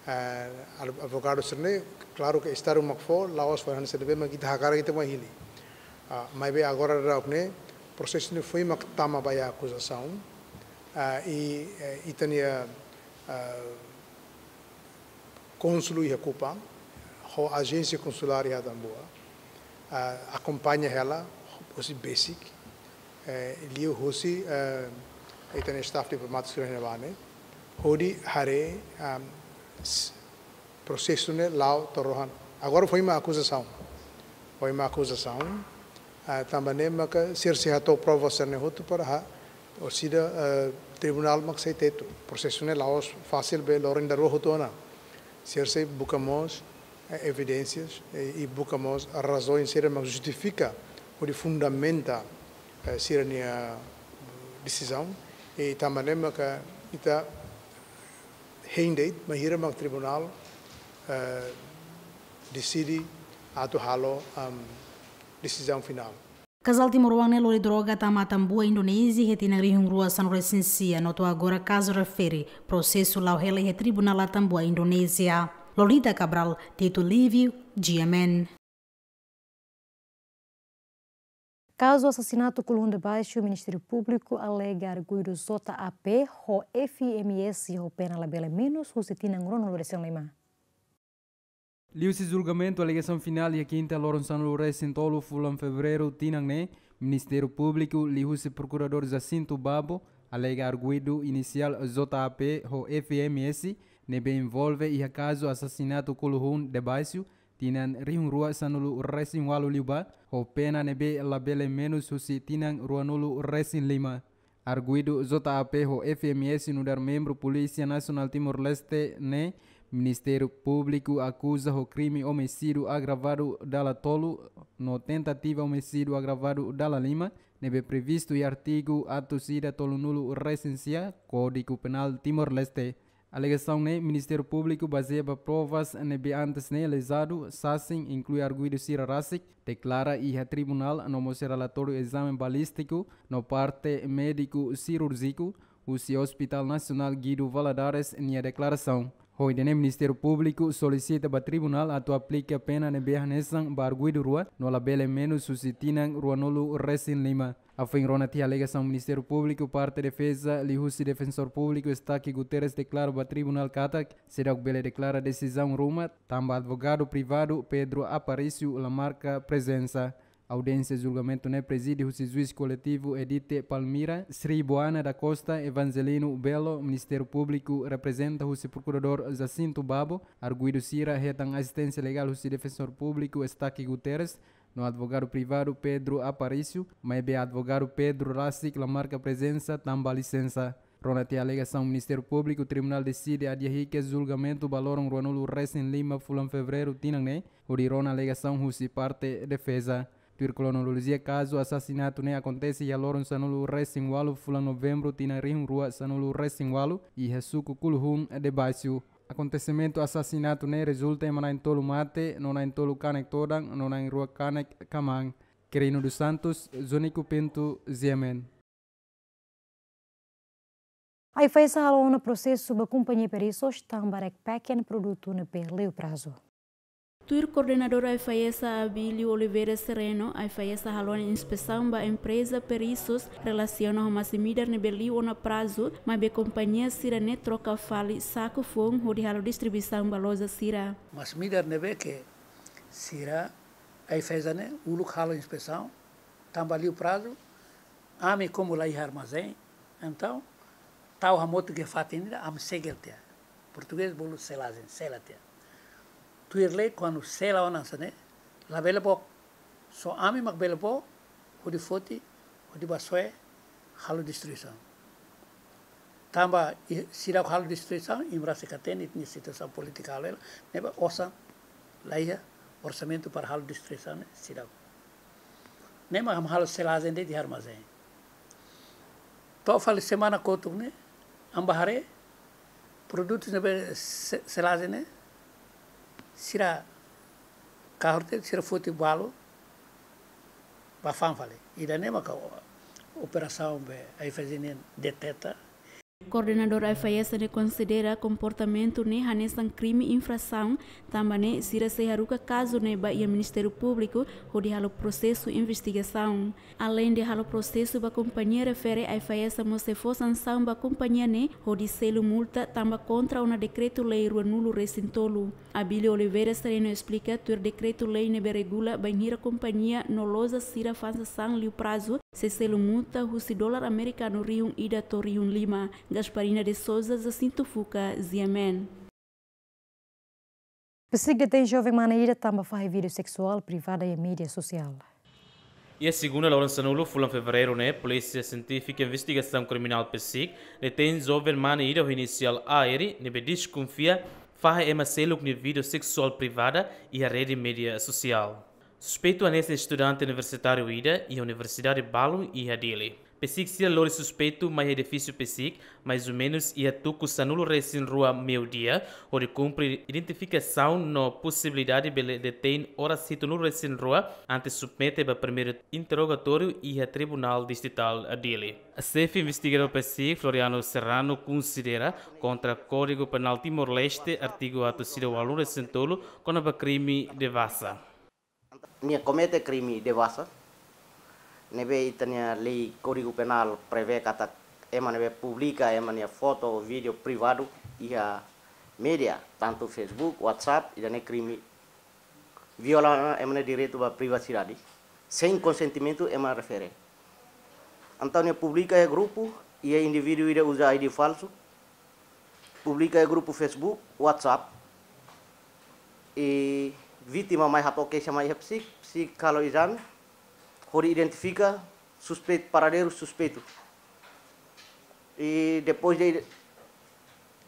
Ah, ad-, advogadu sira-ne'e, klaru ke Estadu mak fó, la'ós fó hanesan ne'ebé mak ita hakarak ita mai hili. Ah, maibé agora daudaun ne'e, prosesu ne'e foin mak tama ba iha akuzasaun. Ah, i, eh, ita-nia, ah, kónsul iha Kupang, ho ajénsia konsulár iha Atambua, ah, akompaña hela husi besik, eh, liuhusi, eh, ita-nia staff diplomátiku sira iha ne'ebá ne'e, hodi haree, ah, s-, prosesu ne'e la'o to'o rohan. Agora foin mak akuzasaun. Foin mak akuzasaun. Ah, tanba ne'e maka sira sei hato'o prova sira-ne'e hotu para ha, orsida, eh, tribunál mak sei tetu. Prosesu ne'e la'ós fasil be loron ida rua hotu ona. Sira sei buka mós, eh, evidénsias, eh, i buka mós razaun sira mak justifika hodi fundamenta, eh, sira-nia desizaun. I tanba ne'e maka ita hein de'it bainhira mak tribunál, eh, deside atu halo, am, desizaun finál. Kazál timoroan ne'e lori droga tama Atambua, Indonézia, iha tinan rihun rua sanulu resin sia, no to'o agora kazu refere prosesu la'o hela iha Tribunál Atambua, Indonézia. Lolita Cabral, Tito Livio, G M N. Kazu asasinatu Kuluhun Debaixu, Ministériu Públiku alega arguidu J A P ho F M S ho pena labele menus husi tinan ruanulu resin lima. Liuhusi julgamentu alegasaun finál iha kinta loron sanulu resin tolu fulan Fevereiru tinan ne'e, Ministériu Públiku liuhusi Prokuradór Jacinto Babo alega arguidu inisiál J A P ho F M S ne'ebé envolve iha kazu asasinatu Kuluhun Debaixu, tinan rihun rua sanulu resin ualu liubá, ho pena ne'ebé labele menus husi tinan ruanulu resin lima. Arguidu J A P ho F M S nu'udar membru Polísia Nasionál Timor-Leste ne'e, Ministériu Públiku akuza ho krime omisídiu agravadu dala tolu no tentativa omisídiu agravadu dala lima, ne'ebé previstu iha artigu atus ida tolunulu resin sia Kódigu Penál Timor-Leste. Alegasaun ne'e Ministériu Públiku bazeia ba provas ne'ebé antes ne'e lezadu, sasin, inklui arguidu sira rasik, deklara iha tribunál no mós relatóriu ezame balístiku no parte médiku sirúrjiku husi Hospital Nasionál Guido Valadares nia deklarasaun. Ho ida-ne'e Ministériu Públiku solisita ba tribunál atu aplika pena ne'ebé hanesan ba arguidu rua no labele menus husi tinan ruanulu resin lima. Hafoin rona tiha alegasaun Ministériu Públiku, parte defeza liuhusi Defensór Públiku Estaque Guterres deklara ba tribunál katak seidauk bele deklara desizaun ruma tanba advogadu privadu Pedro Aparício la marka prezensa. Audiénsia julgamentu ne'e prezide husi juís koletivu Edite Palmira, Sri Boana da Costa, Evangelino Belo, Ministériu Públiku reprezenta husi Prokuradór Jacinto Babo, arguidu sira hetan asisténsia legál husi Defensór Públiku Estaque Guterres, no advogadu privadu Pedro Aparício, maibé advogadu Pedro rasik la marka prezensa tanba lisensa. Rona tiha alegasaun Ministériu Públiku, tribunál deside adia hikas julgamentu ba loron ruanulu resin lima fulan Fevereiru tinan ne'e, hodi rona alegasaun husi parte defeza. Tuir kronolojia kazu asasinatu ne'e akontese iha loron sanulu resin ualu fulan Novembru tinan rihun rua sanulu resin ualu, iha suku Kuluhun Debaixu. Akontesimentu asasinatu ne'e rezulta ema na'in-tolu mate, no na'in-tolu kanek todan, no na'in-rua kanek kamaan. Quirino dos Santos, Zonico Pinto, G M N. AIFAESA halo ona prosesu ba kompañia Perissos tanba rekpekean produtu ne'ebé liu prazu. Tuir koordenadór AIFAESA Abílio Oliveira Sereno, AIFAESA halo ona inspesaun ba empreza Perisos relasiona ho masin-midar ne'ebé liu ona prazu, maibé kompañia sira-ne'e troka fali saku foun hodi halo distribuisaun ba loja sira. Masin-midar ne'ebé ke sira AIFAESA ne'e uluk halo inspesaun, tanba liu prazu, ami komu la iha armazén, entaun, tau hamutuk iha fatin ida, ami segel tiha. Portugés bolu selagem, sela tiha. Tuir lei, kuandu sela ona hanesan ne'e, labele book. Só ami mak bele book, hodi foti, hodi bá soe, halo distribuisaun. Tanba i-, seidauk halo distribuisaun, imi rasik hatene, ita-nia situasaun polítika halo hela, ne'ebé osan la iha orsamentu para halo distribuisaun ne'e seidauk. Ne'e mak ami halo selagem de'it iha armazén. To'o fali semana kotuk ne'e, ami bá haree, produtu ne'ebé se-, selagem ne'e, sira kahur tiha, sira foti balu, bá fa'an fali. Ida-ne'e maka o-, operasaun be AIFAESA nian deteta. Koordenadór AIFAESA ne'e konsidera komportamentu ne'e hanesan krime infrasaun, tanba ne'e sira sei haruka kazu ne'e ba iha Ministériu Públiku hodi halo prosesu investigasaun. Aleinde halo prosesu ba kompañia refere, AIFAESA mós sei fó sansaun ba kompañia ne'e hodi selu multa tanba kontra ona dekretu-lei ruanulu-resin-tolu. Abílio Oliveira Sereno esplika tuir dekretu-lei ne'ebé regula bainhira kompañia no loja sira fa'an sasán liu prazu, sei selu multa husi dolar amerikanu rihun ida to'o rihun lima. Gasparina de Sousa, Jacinto Fuca, G M N. PCIC detein joven mane ida tanba fahe vídeo seksuál privada iha média sosiál. Iha segunda loron sanulu fulan fevereiru ne'e, Polísia Sientífika Investigasaun Kriminál PCIC detein joven mane ida ho inisiál A R ne'ebé deskonfia fahe ema seluk nia vídeo seksuál privada iha rede média sosiál. Suspeitu hanesan estudante universitáriu ida iha universidade balun iha Dili. PCIC sira lori suspeitu mai iha edifísiu PCIC, mais ou menus iha tuku sanulu-resin-rua meiudia, hodi kumpre identifikasaun no posibilidade bele detein oras hitunulu-resin-rua, antes submete ba primeiru interrogatóriu iha Tribunál Distritál Dili. Xefe investigadór PCIC, Floriano Serrano, konsidera kontra Kódigu Penál Timor-Leste, artigu atus ida ualunulu-resin-tolu, kona-ba krime devassa. Nia komete krime devassa, ne'ebé ita-nia lei Kódigu Penál prevee katak ema ne'ebé publika ema nia foto, vídeo privadu iha média, tantu Facebook, WhatsApp, ida-ne'e krime, viola ema nia direitu ba privasidade, sein konsentimentu ema refere. Entaun nia publika iha grupu, iha indivíduu ida uza I D falsu, publika iha grupu Facebook, WhatsApp, i vítima mai hato'o keixa mai iha PCIC, PCIC halo ezame, hodi identifika suspeitu, paradeiru suspeitu. I depois de ide-,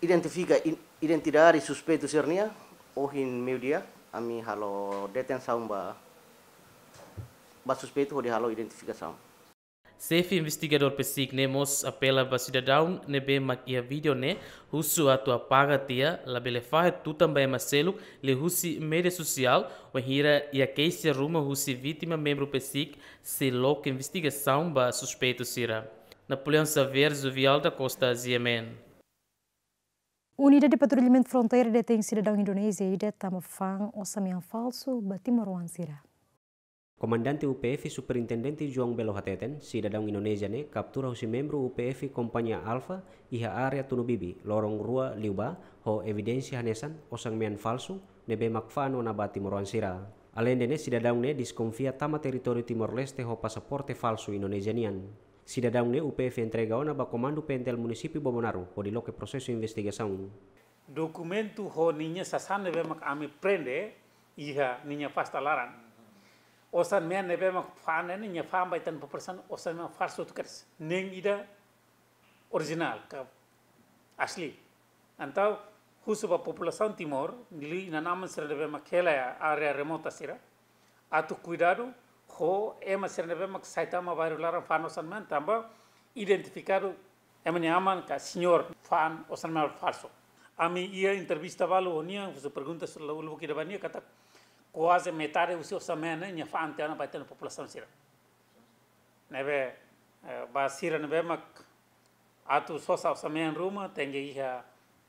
identifika in-, identidade suspeitu sira-nian, ohin meiudia, ami halo detensaun ba, ba suspeitu hodi halo identifikasaun. Xefe investigadór PCIC ne'e mós apela ba sidadaun ne'ebé mak iha vídeo ne'e, husu atu apaga tiha, labele fahe tutan ba ema seluk liuhusi média sosiál, wainhira iha keixa ruma husi vítima membru PCIC, sei loke investigasaun ba suspeitu sira. Napoleão Xavier, Zuvial da Costa, G M N. Unidade Patrullamentu Fronteira detein sidadaun Indonézia ida tanba fa'an osan-mean falsu ba timoroan sira. Komandante U P F Superintendente João Belo hateten, sidadaun Indonézia ne'e kaptura husi membru U P F Kompañia Alfa iha área Tunubibi, loron rua liubá, ho evidénsia hanesan osan-mean falsu ne'ebé mak fa'an ona ba timoroan sira. Aleinde ne'e, sidadaun ne'e deskonfia tama territóriu Timor-Leste ho pasaporte falsu Indonézia nian. Sidadaun ne'e U P F entrega ona ba Komandu P N T L Munisípiu Bobonaro hodi loke prosesu investigasaun. Dokumentu ho ninia sasán ne'ebé mak ami prende iha ninia pasta laran. Osan-mean ne'ebé mak fa'an ne'e nia fa'an ba ita-nia populasaun osan-mean falsu tukedas. Nein ida orijinál ka asli. Entaun husu ba populasaun Timor, liuliu inan-aman sira ne'ebé mak hela iha área remota sira, atu kuidadu ho ema sira ne'ebé mak sai tama bairru laran fa'an osan-mean tanba identifikadu ema nia aman ka señór fa'an osan-mean falsu. Ami iha entrevista balu ho nia, husu pergunta sira uluk ida ba nia katak kuaze metade husi osan-mean ne'e nia fa'an tiha ona ba ita-nia populasaun sira. Ne'ebé, eh, ba sira ne'ebé mak atu sosa osan-mean ruma, tenke iha,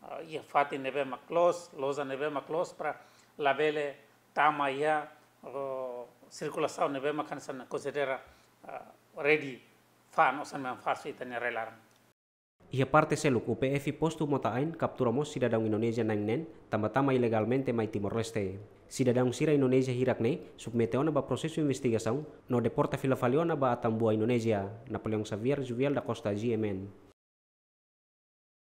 eh, iha fatin ne'ebé mak loos, loja ne'ebé mak loos para labele tama iha, eh, sirkulasaun ne'ebé mak hanesan konsidera, eh, ready fa'an osan mean falsu ita-nia rai laran. Iha parte seluk, U P F postu Mota-Ain kaptura mós sidadaun Indonézia na'in neen, tanba tama ilegalmente mai Timor-Leste. Sidadaun sira Indonézia hirak ne'e submete ona ba prosesu investigasaun, no deporta fila fali ona ba Atambua, Indonézia. Napoleão Xavier, Juvial da Costa, G M N.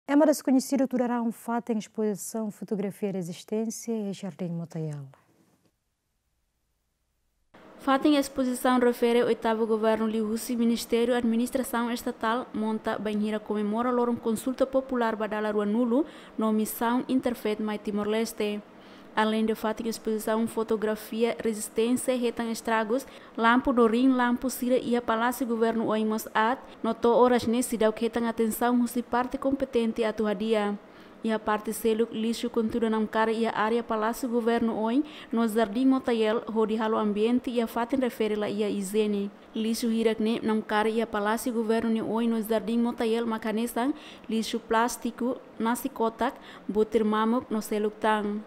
Ema deskoñesidu tuda rahun fatin espozisaun fotografia rezisténsia iha Jardín Motael. Fatin espozisaun refere oitavu governu liuhusi Ministériu Administrasaun Estatál monta bainhira komemora loron konsulta populár ba dala ruanulu no misaun Interfaith mai Timor-Leste. Aleinde fatin espozisaun fotografia rezisténsia hetan estragus, lampu no riin lampu sira iha Palásiu Governu oin mós aat, no to'o oras ne'e seidauk hetan atensaun husi parte kompetente atu hadi'a. Iha parte seluk, lixu kontudu namkari iha área Palásiu Governu oin no Jardín Motael hodi halo ambiente iha fatin refere la iha ijiene. Lixu hirak ne'e namkari iha Palásiu Governu nia oin no Jardín Motael mak hanesan lixu plástiku, nasi kotak, butir mamuk no seluk tan.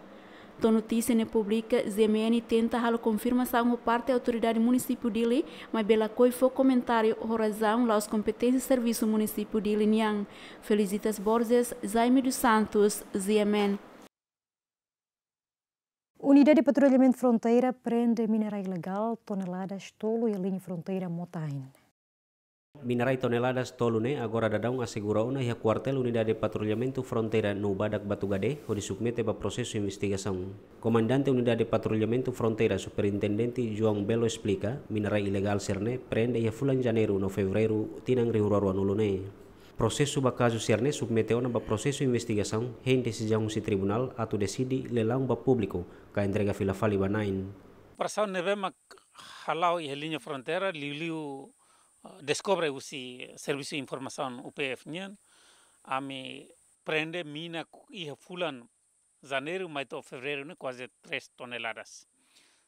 To'o notísia ne'e publika, G M N tenta halo konfirmasaun ho parte autoridade munisípiu Dili, maibé lakohi fó komentáriu ho razaun la'ós kompeténsia servisu munisípiu Dili nian. Felicitas Borges, Jaime dos Santos, G M N. Unidade Patrullamentu Fronteira prende minerai ilegál toneladas tolu iha liña fronteira Mota-Ain. Minerai toneladas tolu ne'e agora daudaun asegura ona iha kuartél Unidade Patrullamentu Fronteira no badak Batugade, hodi submete ba prosesu investigasaun. Komandante Unidade Patrullamentu Fronteira, Superintendente João Belo esplika, minerai ilegál sira-ne'e prende iha fulan Janeiru no Fevereiru tinan rihun rua ruanulu ne'e. Prosesu ba kazu sira-ne'e submete ona ba prosesu investigasaun, hein desizaun husi tribunál atu deside lelaun ba públiku, ka entrega fila fali ba na'in. Operasaun ne'ebé mak hala'o iha liña fronteira, liuliu, eh, deskobre husi Servisu Informasaun U P F nian, ami prende mina ku-, iha fulan Janeiru mai to'o Fevereiru ne'e kuaze três toneladas.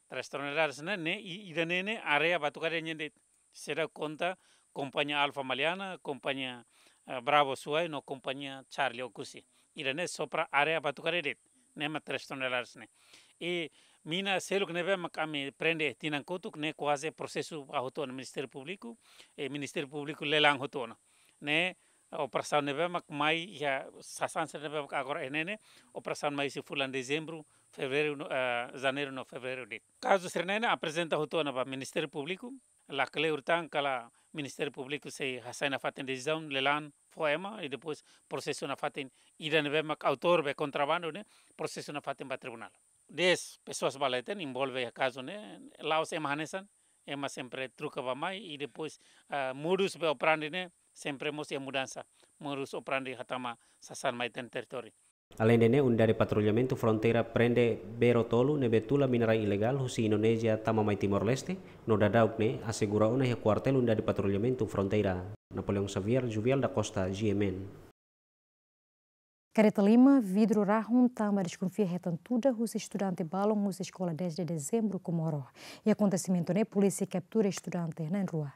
Três toneladas ne'e, ne'e, i-, ida-ne'e ne'e área Batugade nian de'it, seidauk konta kompañia Alfa Maliana, kompañia, eh, Bravo Suai, no kompañia Charlie Ocusi. Ida-ne'e só para área Batugade de'it, ne'e mak três toneladas ne'e. I mina seluk ne'ebé mak ami prende tinan kotuk ne'e kuaze prosesu ba hotu ona Ministériu Públiku, i Ministériu Públiku lelaun hotu ona. Ne'e operasaun ne'ebé mak mai iha sasán sira ne'ebé mak agora iha ne'e ne'e, operasaun mai husi fulan Dezembru, Fevereiru no, eh, Janeiru no Fevereiru de'it. Kazu sira-ne'e ne'e aprezenta hotu ona ba Ministériu Públiku, la kleur tan kala Ministériu Públiku sei hasai nafatin desizaun lelaun fó ema, i depois prosesu nafatin ida ne'ebé mak autór be kontrabandu ne'e, prosesu nafatin ba tribunál. Dez pessoas ba leten envolve iha kazu ne'e, la'ós ema hanesan, ema sempre troka bá-mai, i depois, ah, modus be operandi ne'e sempre mós iha mudansa. Modus operandi hatama sasán mai iha ita-nia territóriu. Aleinde ne'e, Unidade Patrullamentu Fronteira prende bero tolu ne'ebé tula minerai ilegál husi Indonézia tama mai Timor-Leste, no daudauk ne'e asegura ona iha kuartél Unidade Patrullamentu Fronteira. Napoleão Xavier, Juvial da Costa, G M N. Kareta lima, vidru rahun tanba deskonfia hetan tuda husi estudante balun husi eskola dez de Dezembru Comoro. Iha akontesimentu ne'e, polísia kaptura estudante na'in-rua.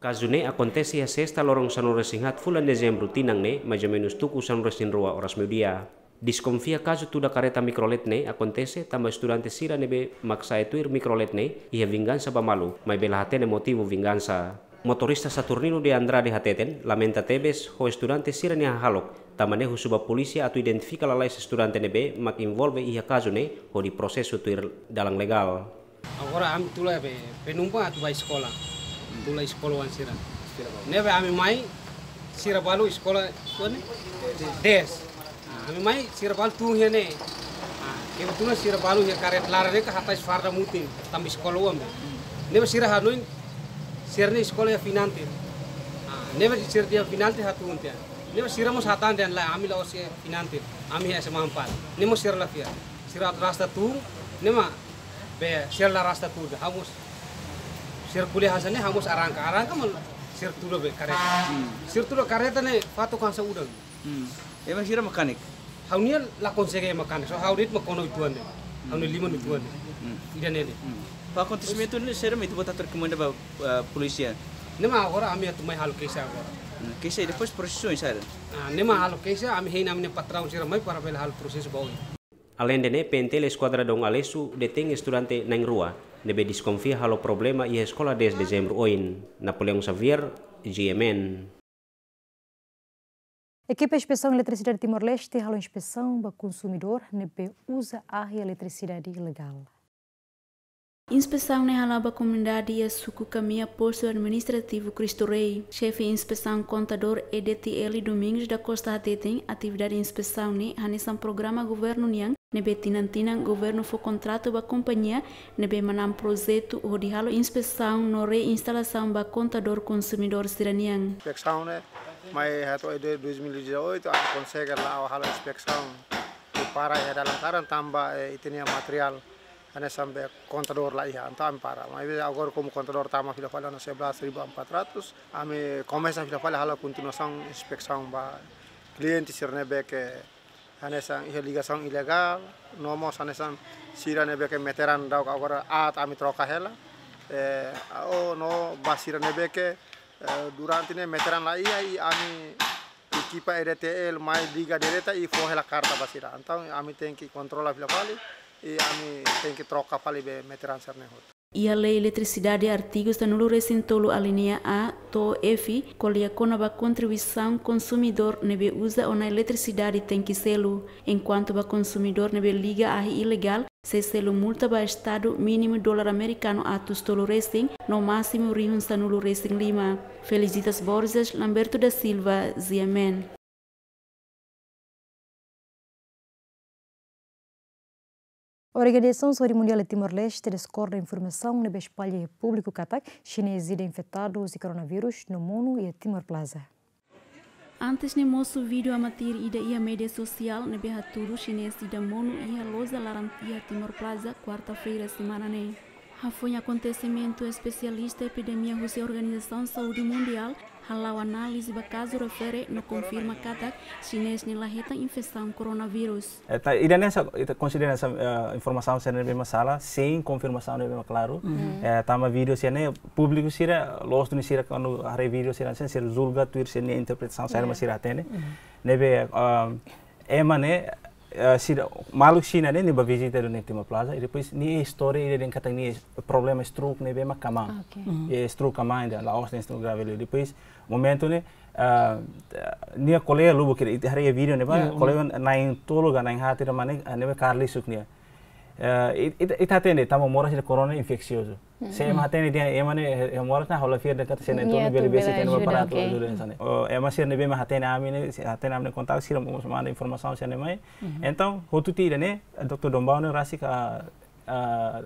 Kazu ne'e akontese iha sesta loron sanulu-resin-haat fulan Dezembru tinan ne'e, mais ou menus tuku sanulu-resin-rua oras meiudia. Deskonfia kazu tuda kareta mikrolet ne'e akontese tanba estudante sira ne'ebé mak sa'e tuir mikrolet ne'e iha vingansa ba malu, maibé la hatene motivu vingansa. Motorista Saturnino de Andrade hateten lamenta tebes ho estudante sira-nia hahalok, tanba ne'e husu ba polísia atu identifika lalais estudante ne'ebé mak envolve iha kazu ne'e hodi prosesu tuir dalan legál. Agora ami tula be penumpang atu ba eskola. Tula eskola oan sira. Ne'ebé ami mai, sira balu eskola, tuan, dez. Ah, ami mai, sira balu tun iha ne'e. Ah, kebetulan sira balu iha kareta laran ne'e ka hatais farda mutin, tanba eskola oan be. Ne'ebé sira hanoin, sira-nia eskola iha Finantin. Ah, ne'ebé sira iha Finantin hatun tiha. Ne'ebé sira mós hatán dehan lae, ami la'ós iha Finantin, ami iha S M A empat. Ne'e mós sira la fiar. Sira atu rasta tun, ne'e mak be sira la rasta tun, ha'u mós. Sira ko'alia hanesan ne'e, ha'u mós arranka. Arranka mak sira tuda be kareta. Hmm. Sira tuda kareta ne'e fatuk hanesan udan. Hmm. Ema sira mekanik? Ha'u-nian la konsege mekanik. So ha'u de'it mak kona uitoan de'it. Ha'u-nia liman uitoan de'it. Hmm. Ida-ne'e de'it. Hmm. Ba akontesimentu ne'e sira mai tu bota terkomenda ba, eh, polísia. Ne'e mak agora ami atu mai halo keixa agora. Hmm. Keixa i depois prosesu oinsá? Ah, ne'e mak halo keixa, ami hein ami-nia patraun sira mai para bele halo prosesu ba oin. Aleinde ne'e, P N T L Eskuadra Dom Aleixo detein estudante na'in-rua ne'ebé deskonfia halo problema iha eskola dez Dezembru oin. Napoleão Xavier, G M N. Ekipa Inspesaun Eletrisidade Timor-Leste halo inspesaun ba konsumidór ne'ebé uza ahi eletrisidade ilegál. Inspesaun ne'e hala'o ba komunidade iha suku Kamia, postu administrativu Cristo Rei. Xefe Inspesaun Kontadór, E D T L, Domingos da Costa hateten, atividade inspesaun ne'e hanesan programa governu nian ne'ebé tinan-tinan governu fó kontratu ba kompañia ne'ebé manán projetu hodi halo inspesaun no reinstalasaun ba kontadór konsumidór sira-nian. Inspesaun ne'e mai hato'o desde dois mil e dezoito, ami konsege la'o halo inspesaun. I para iha dalan karan tanba, eh, ita-nia materiál hanesan be kontadór la iha, entaun ami para. Maibé agora komu kontadór tama fila fali ona sebelas ribu empat ratus, ami komesa fila fali halo kontinuasaun inspesaun ba kliente sira ne'ebé ke hanesan iha ligasaun ilegál, no mós hanesan sira ne'ebé ke meteran daudauk agora aat ami troka hela. Eh, o no ba sira ne'ebé ke, eh, durante ne'e meteran la iha, i ami ekipa E D T L mai liga direta i fó hela karta ba sira. Entaun ami tenke kontrola fila fali i ami tenke troka fali be meteran sira-ne'e hotu. Iha lei eletrisidade artigu sanulu-resin-tolu alínea A to'o F ko'alia kona-ba kontribuisaun konsumidór ne'ebé uza ona eletrisidade tenke selu. Enkuantu ba konsumidór ne'ebé liga ahi ilegál, sei selu multa ba Estadu mínimu dolar amerikanu atus tolu-resin no másimu rihun sanulu-resin-lima. Felicitas Borges, Lamberto da Silva, G M N. Organizasaun Saúde Mundiál iha Timor-Leste diskorda informasaun ne'ebé espalla iha públiku katak xinés ida infetadu husi koronavírus no monu iha Timor Plaza. Antes ne'e mosu vídeo amatir ida iha média sosiál ne'ebé hatudu xinés ida monu iha loja laran iha Timor Plaza, kuarta-feira semana ne'e. Hafoin akontesimentu, espesialista epidemia husi Organizasaun Saúde Mundiál hala'o análize ba kazu refere no konfirma katak xinés ne'e la hetan infesaun koronavírus. Eh, ta, ida-ne'e sa, ita konsidera sa, eh, informasaun sira ne'ebé mak sala, sein konfirmasaun ne'ebé mak klaru. Mhm. Eh, tanba vídeo sira-ne'e, públiku sira, loos duni sira kuandu haree vídeo sira-ne'e, sira julga tuir sira-nia interpretasaun saida mak sira hatene. Mhm. Ne'ebé, ah, ema ne'e, eh, sira, maluk Xina ne'e, nia bá vizita duni iha Timor Plaza, i depois nia istória ida dehan katak nia problema stroke ne'ebé mak kmaan. Ok. Mhm. I stroke kmaan ida, la'ós dehan stroke grave liu. Depois, momentu ne'e, ah, nia kolega lubuk ida, ita haree vídeo ne'ebá, iya, kolega na'in-tolu ka na'in-haat ida mak ne'e, ah, ne'ebé kaer lisuk nia. Eh, it-, it-, ita hatene, tanba moras ida korona infeksiozu. Mhm. Se ema hatene dehan ema ne'e, eh, moras ne'e, ha'u la fiar dehan katak se na'in-tolu ne'e bele besik, bele ajuda, ajuda, ok, hanesan ne'e. O, ema sira ne'ebé mak hatene ami ne'e, se hatene ami-nia kontaktu, sira mós manda informasaun sira-ne'e mai. Mhm. Entaun, hotu tiha ida-ne'e, doutór Dombau ne'e rasik, ah, ah,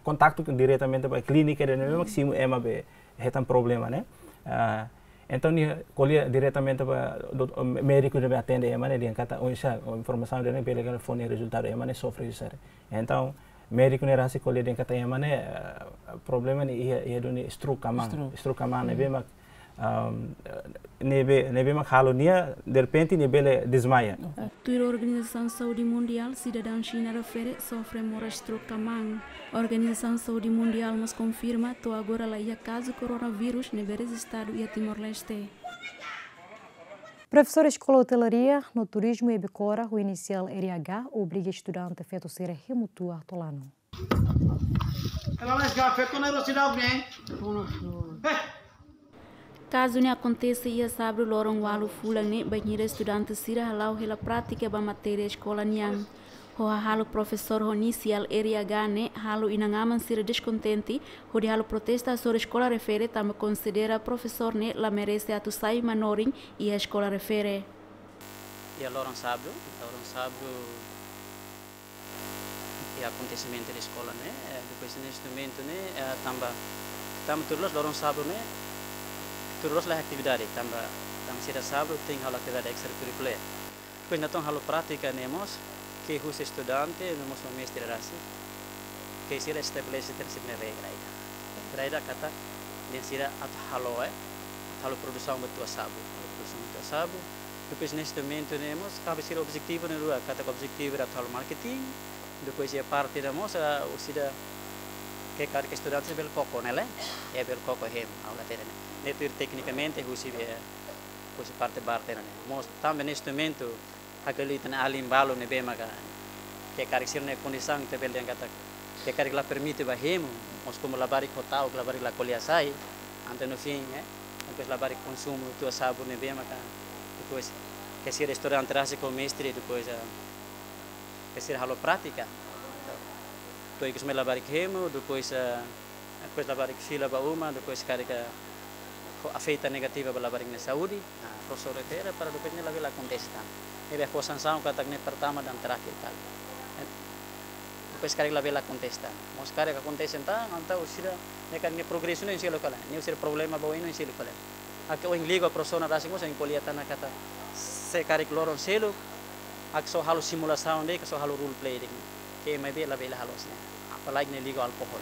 kontaktu diretamente ba klínika ida ne'ebé mak simu ema be hetan problema ne'e. Ah, entaun nia ko'alia diretamente ba dot-, médiku ne'ebé atende ema ne'e, dehan katak, oh, sa, oh, informasaun ida-ne'e bele kan fó nia rezultadu, ema ne'e sofre husi sira. Entaun, médiku ne'e rasik ko'alia dehan katak ema ne'e, eh, problema ne'e iha, iha duni stroke kmaan. Stroke. Stroke kmaan ne'ebé mak, um, ne'ebé, ne'ebé mak halo nia, derrepente nia bele desmaia. Tuir Organizasaun Saúde Mundiál, sidadaun Xina refere sofre moras stroke kmaan. Organizasaun Saúde Mundiál mós konfirma, to'o agora la iha kazu koronavírus ne'ebé rejistadu iha Timor-Leste. Profesór Eskola Otelaria no Turizmu iha Becora, ho inisiál R H, obriga estudante feto sira hemu tua tolanu. Kazu ne'e akontese iha sábadu loron ualu fulan ne'e, bainhira estudante sira hala'o hela prátika ba matéria eskola nian. Ho hahalok profesór ho inisiál R H ne'e, halo inan-aman sira deskontente, hodi halo protesta hasoru eskola refere tanba konsidera profesór ne'e la merese atu sai manorin iha eskola refere. Iha loron sábadu, loron sábadu, iha akontesimentu iha eskola ne'e, eh, depois neste momentu ne'e, eh, tanba, tanba tuir loloos loron sábadu ne'e, tuir loloos la iha atividade, tanba, tanba sira sábadu tenke halo atividade extracurricular. Depois entaun halo prátika ne'e mós, ke husi estudante, no mós mestre rasik, ke sira estabelese tiha sira-nia regra ida. Regra ida katak, dehan sira atu halo, eh, atu halo produsaun ba tua sábadu, halo produsaun ba tua sábadu. Depois neste momentu ne'e mós, kabe sira objetivu ne'e rua, katak objetivu ida atu halo marketing, depois iha parte ida mós, ah, husi ida ke karik estudante bele koko ne'e lae, eh, bele koko hemu, ha'u la hatene ne'e. Ne'e tuir teknikamente, husi be, husi parte barter ne'e. Mós tanba neste momentu, hakali tan alin balu ne'ebé maka Ke karik sira-nia kondisaun ita bele dehan katak ke karik la permite ba hemu, mós komu labarik ho ta'uk, labarik la ko'alia sai, entaun no fin, eh, depois labarik konsumu tuir sabun ne'ebé maka, depois ke sira estuda antrase ho mestre, depois, eh, ke sira halo prátika. To'o ikus mai labarik hemu, depois, eh, depois labarik fila ba uma, depois karik ho afeta negativa ba labarik nia saúde, ah, profesór refere para depois ne'e labele akontese tan. Ne'ebé fó sansaun katak ne'e pertama dan terakhir kali. Eh, depois karik labele akontese tan. Mós karik akontese tan, entaun sira, ne'e karik nia progresu ne'e sira kala. Ne'e sira problema ba oin ne'e sira kala. Ake ohin liga profesór na rasik mós ohin ko'alia tan katak se karik loron seluk, ake só halo simulasaun de'it, ke só halo role play de'it. Ke maibé labele halo hanesan ne'e. Apalagi ne'e liga alkohol.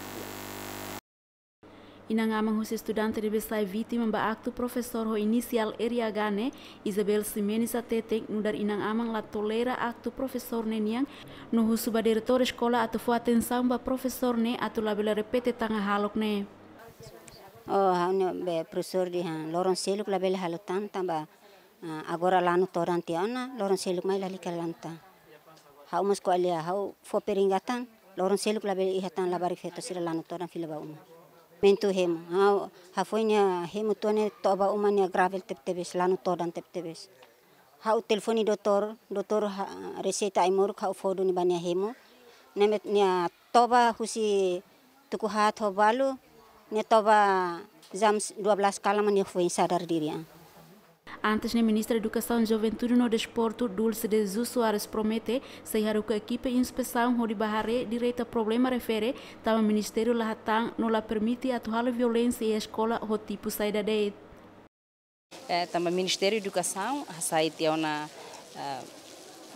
Inan-aman husi estudante ne'ebé sai vítima ba aktu profesór ho inisiál R H ne'e, Isabel Ximenes hateten nu'udar inan-aman la tolera aktu profesór ne'e nian, no husu ba diretór eskola atu fó atensaun ba profesór ne'e atu labele repete tan hahalok ne'e. Oh, ha'u-nia be profesór dehan loron seluk labele halo tan tanba, ah, agora lanu todan tiha ona, loron seluk mai lalika lanu tan. Ha'u mós ko'alia, ha'u fó peringatan, loron seluk labele iha tan labarik feto sira lanu todan fila ba uma. Momentu hemu, ha'u hafoin nia hemu tuan ne'e to'o ba uma nia grave tebetebes, lanu todan tebetebes. Ha'u telefone doutór, doutór ha-, reseita ai-moruk ha'u fó duni ba nia hemu. Ne'e mak nia toba husi tuku haat ho balu, nia toba jam dua belas kalan mak nia foin sadar diri an. Antes ne'e, Ministra Edukasaun, Juventude no Desportu, Dulce de Jesus Soares, promete sei haruka ekipa inspesaun hodi bá haree direta problema refere, tanba ministériu la hatán no la permite atu halo violénsia iha eskola ho tipu saida de'it. Eh, tanba Ministériu Edukasaun hasai tiha ona, eh,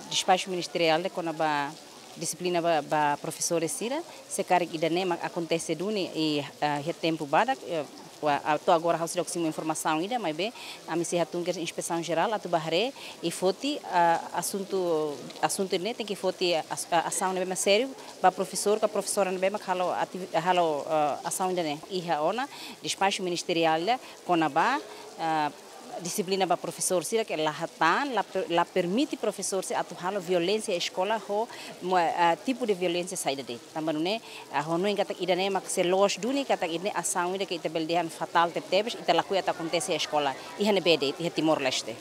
despaxu ministeriál de'it kona-ba dixiplina ba, ba profesores sira, se karik ida-ne'e mak akontese duni iha, eh, iha tempu badak, eh, wa-, atu agora ha'u seidauk simu informasaun ida, maibé ami sei hatún kedas inspesaun jerál atu bá haree i foti, eh, asuntu, asuntu ne'e tenke foti as-, eh, asaun ne'ebé mak sériu ba profesór ka profesora ne'ebé mak halo ativi-, halo, eh, asaun ida-ne'e. Iha ona despaxu ministeriál ida kona-ba, ah, dixiplina ba profesór sira ke la hatán, la per-, la permite profesór sira atu halo violénsia eskola ho mo-, ah, tipu de violénsia saida de'it. Tanba nune'e, ah, ha'u hanoin katak ida-ne'e mak sei loos duni katak ida-ne'e asaun ida ke ita bele dehan fatál tebetebes, ita lakohi atu akontese eskola iha ne'ebé de'it, iha Timor-Leste.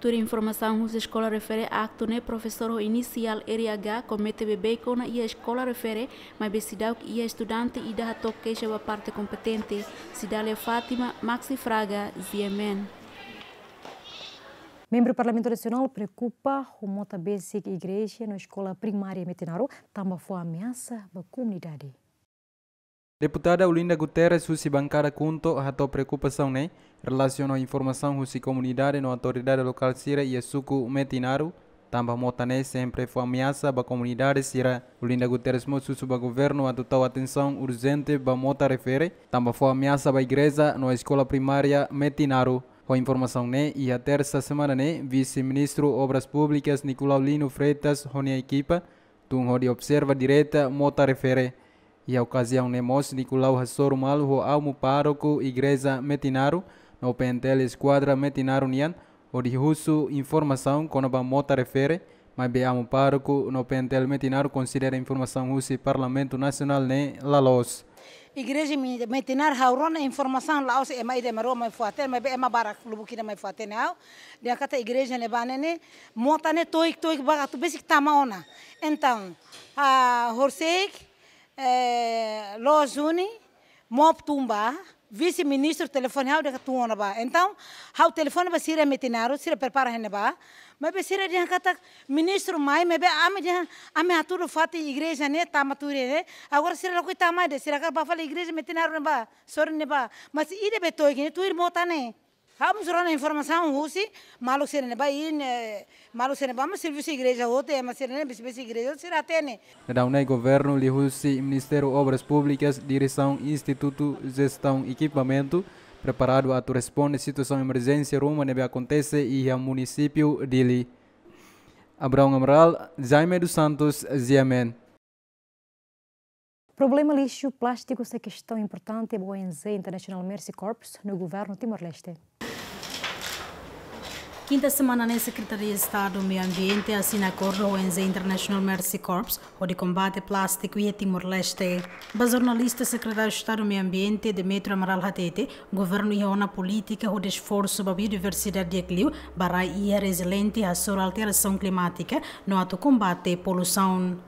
Tuir informasaun husi eskola refere, aktu ne'e profesór ho inisiál R H komete beibeik ona iha eskola refere, maibé seidauk iha estudante ida hato'o keixa ba parte kompetente. Cidália Fátima, Maxi Fraga, G M N. Membru Parlamentu Nasionál preokupa ho mota besik igreja no eskola primária Metinaro, tanba fó ameasa ba komunidade. Deputada Olinda Guterres husi bankada KHUNTO hato'o preokupasaun ne'e relasiona ho informasaun husi komunidade no autoridade lokál sira iha suku Metinaro, tanba mota ne'e sempre fó ameasa ba komunidade sira. Olinda Guterres mós husu ba governu atu tau atensaun urjente ba mota refere, tanba fó ameasa ba igreja no eskola primária Metinaro. Ho informasaun ne'e, iha tersa semana ne'e, Vise-Ministru Obras Públikas Nicolau Lino Freitas ho nia ekipa tun hodi observa direta mota refere. Iha okaziaun ne'e mós Nicolau hasoru malu ho amu pároku igreja Metinaro no P N T L eskuadra Metinaro nian hodi husu informasaun kona-ba mota refere, maibé amu pároku no P N T L Metinaro konsidera informasaun husi Parlamentu Nasionál ne'e la loos. Igreja Mi-, Metinaro ha'u rona informasaun la'ós ema ida ema rua mai fó-hatene, maibé ema barak lubuk ida mai fó-hatene ha'u. Dehan katak igreja ne'ebá ne'e, mota ne'e toik-toik barak atu besik tama ona. Entaun, ah, horisehik, eh, loos duni, mop tun bá, vise-ministru telefone ha'u dehan katak tun ona bá. Entaun, ha'u telefone ba sira Metinaro, sira prepara iha ne'ebá. Maibé sira dehan katak ministru mai, maibé ami dehan, ami hatudu fatin igreja ne'e tama tuir ne'e. Agora sira lakohi tama de'it, sira hakarak bá fali igreja Metinaro ne'ebá, sorin ne'ebá. Mas ida be toik ne'e tuir mota ne'e. Ha'u mós rona informasaun husi maluk sira ne'ebá, i ne'e, maluk sira ne'ebá mós servisu igreja hotu, ema sira ne'e besik-besik igreja hotu sira hatene. Daudaun ne'e governu liuhusi Ministériu Obras Públikas, Diresaun Institutu Jestaun Ekipamentu, preparadu atu responde situasaun emerjénsia ruma ne'ebé akontese iha munisípiu Dili. Abraão Amaral, Jaime dos Santos, G M N. Problema lixu plástiku sai kestaun importante ba O N G International Mercy Corps no governu Timor-Leste. Kinta semana ne'e, Sekretaria Estadu Meiu Ambiente asina akordu ho O N G International Mercy Corps hodi kombate plástiku iha Timor-Leste. Ba jornalista, Sekretáriu Estadu Meiu Ambiente, Demetrio Amaral, hatete governu iha ona polítika hodi esforsu ba biodiversidade di'ak liu, ba rai iha reziliente hasoru alterasaun klimátika no atu kombate poluisaun.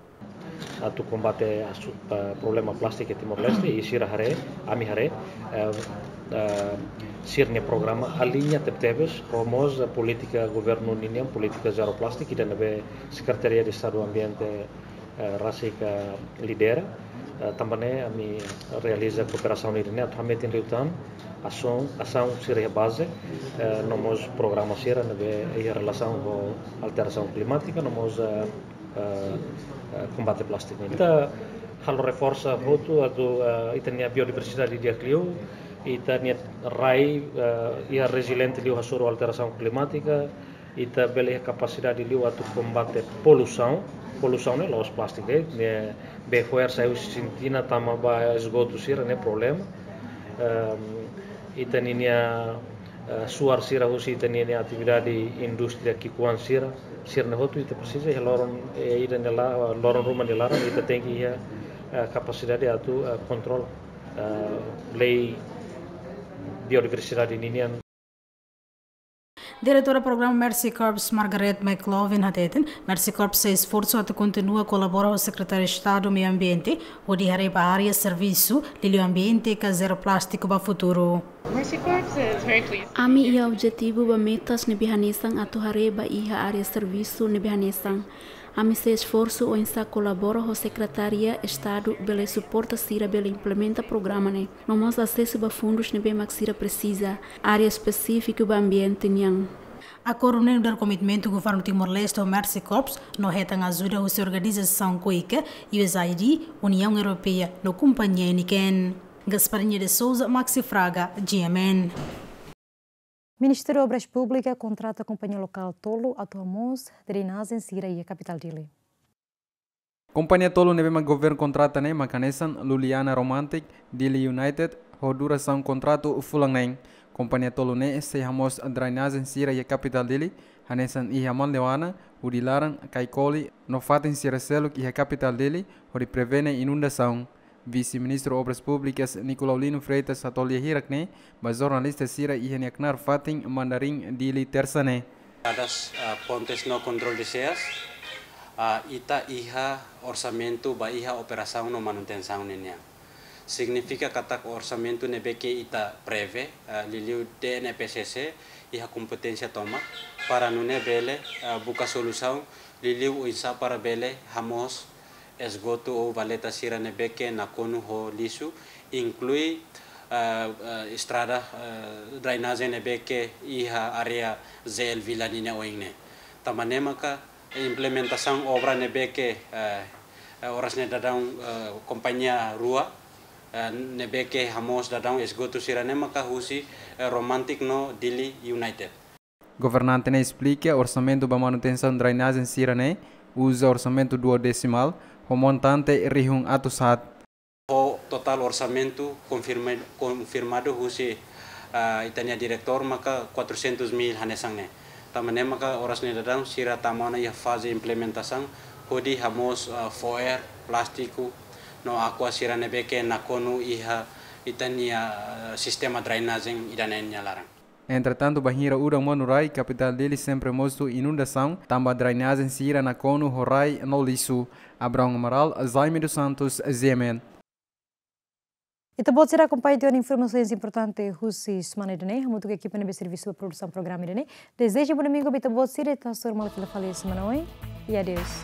Atu kombate asu-, eh, problema plástiku iha Timor-Leste, i sira haree, ami haree, eh, eh, sira-nia programa aliña tebetebes ho mós polítika governu ninian, polítika zero plástiku, ida ne'ebé Sekretaria de Estadu Ambiente, eh, rasik lidera. Eh, tanba ne'e ami realiza kooperasaun ida-ne'e atu hametin liután asaun, asaun sira iha baze, eh, no mós programa sira ne'ebé iha relasaun ho alterasaun klimátika, no mós, eh, eh, eh, kombate plástiku. Ita halo reforsa hotu atu, eh, ita-nia biodiversidade di'ak liu, ita-nia rai, eh, iha reziliente liu hasoru alterasaun klimátika, ita bele iha kapasidade liu atu kombate poluisaun. Poluisaun ne'e la'ós plástiku de'it, ne'ebé fo'er sai husi sintina tama ba esgotu sira-ne'e problema. Ehm, ita ninia, eh, suar sira husi ita ninia atividade indústria ki'ikoan sira, sira-ne'e hotu ita presiza iha loron, eh, ida-ne'e la-, loron ruma nia laran ita tenke iha, eh, kapasidade atu, eh, kontrola, eh, lei biodiversidade ninian. Diretora Programa Mercy Corps, Margaret McLaughlin, hateten Mercy Corps sei esforsu atu kontinua kolabora ho Sekretáriu Estadu Meiu Ambiente hodi haree ba área servisu liuliu ambiente ka zero plástiku ba futuru. Mercy Corps is very pleased. Ami iha objetivu ba metas ne'ebé hanesan atu haree ba iha área servisu ne'ebé hanesan. Ami sei esforsu oinsá kolabora ho Sekretaria Estadu bele suporta sira bele implementa programa ne'e. No mós asesu ba fundus ne'ebé mak sira presiza, área espesífiku ba ambiente nian. Akordu ne'e nu'udar komitmentu governu Timor-Leste ho Mercy Corps, no hetan ajuda husi organizasaun KOICA, U S A I D, Uniaun Europeia no kompañia Heineken. Gasparinha de Souza, Maxi Fraga, G M N. Ministériu Obras Públikas kontrata kompañia lokál tolu atu hamoos drenajen sira iha kapitál Dili. Kompañia tolu ne'ebé mak governu kontrata ne'e mak hanesan Luliana Romantic, Dili United, ho durasaun kontratu fulan neen. Kompañia tolu ne'e sei hamoos drenajen sira iha kapitál Dili, hanesan iha Manleuana, Udilaran, Kaikoli, no fatin sira seluk iha kapitál Dili, hodi prevene inundasaun. Vise-Ministru Obras Públikas, Nicolaulino Freitas, hato'o lia hirak ne'e ba jornalista sira iha nia knaar fatin Mandarin, Dili, Tersa ne'e. Estradas, ah, pontes no kontrolu de seas, ah, ita iha orsamentu ba iha operasaun no manutensaun ninian. Signifika katak orsamentu ne'ebé ke ita prevee, ah, liuliu D N E P C C, iha kompeténsia tomak, para nune'e bele, ah, buka solusaun, liuliu oinsá para bele hamoos esgotu ou valeta sira ne'ebé ke nakonu ho lixu, inklui, eh, eh, estrada, eh, drenajen ne'ebé ke iha área Z L Vila ninia oin ne'e. Tanba ne'e maka implementasaun obra ne'ebé ke, eh, eh, oras ne'e daudaun, eh, kompañia rua, eh, ne'ebé ke hamoos daudaun esgotu sira-ne'e maka husi, eh, Romantic no Dili United. Governante ne'e esplika orsamentu ba manutensaun drenajen sira-ne'e uza orsamentu duodesimál, ho montante rihun atus haat. Ho totál orsamentu konfirma-, konfirmadu husi, ah, ita-nia diretór maka quatrocentos mil hanesan ne'e. Tanba ne'e maka oras ne'e daudaun sira tama ona iha faze implementasaun, hodi hamoos, ah, fo'er, plástiku, no aqua sira ne'ebé ke nakonu iha ita-nia, ah, sistema drenajen ida-ne'e nia laran. Entretantu, bainhira udan monu rai, kapitál Dili sempre mosu inundasaun, tanba drenajen sira nakonu ho rai no lixu. Abraão Amaral, Jaime dos Santos, G M N. Ita-boot sira akompaña tiha ona informasaun importante husi semana ida-ne'e, hamutuk ho ekipa ne'ebé servisu ba produsaun programa ida-ne'e. Dezeja bom domingu ba ita-boot sira, ita hasoru malu fila fali semana oin. E adeus.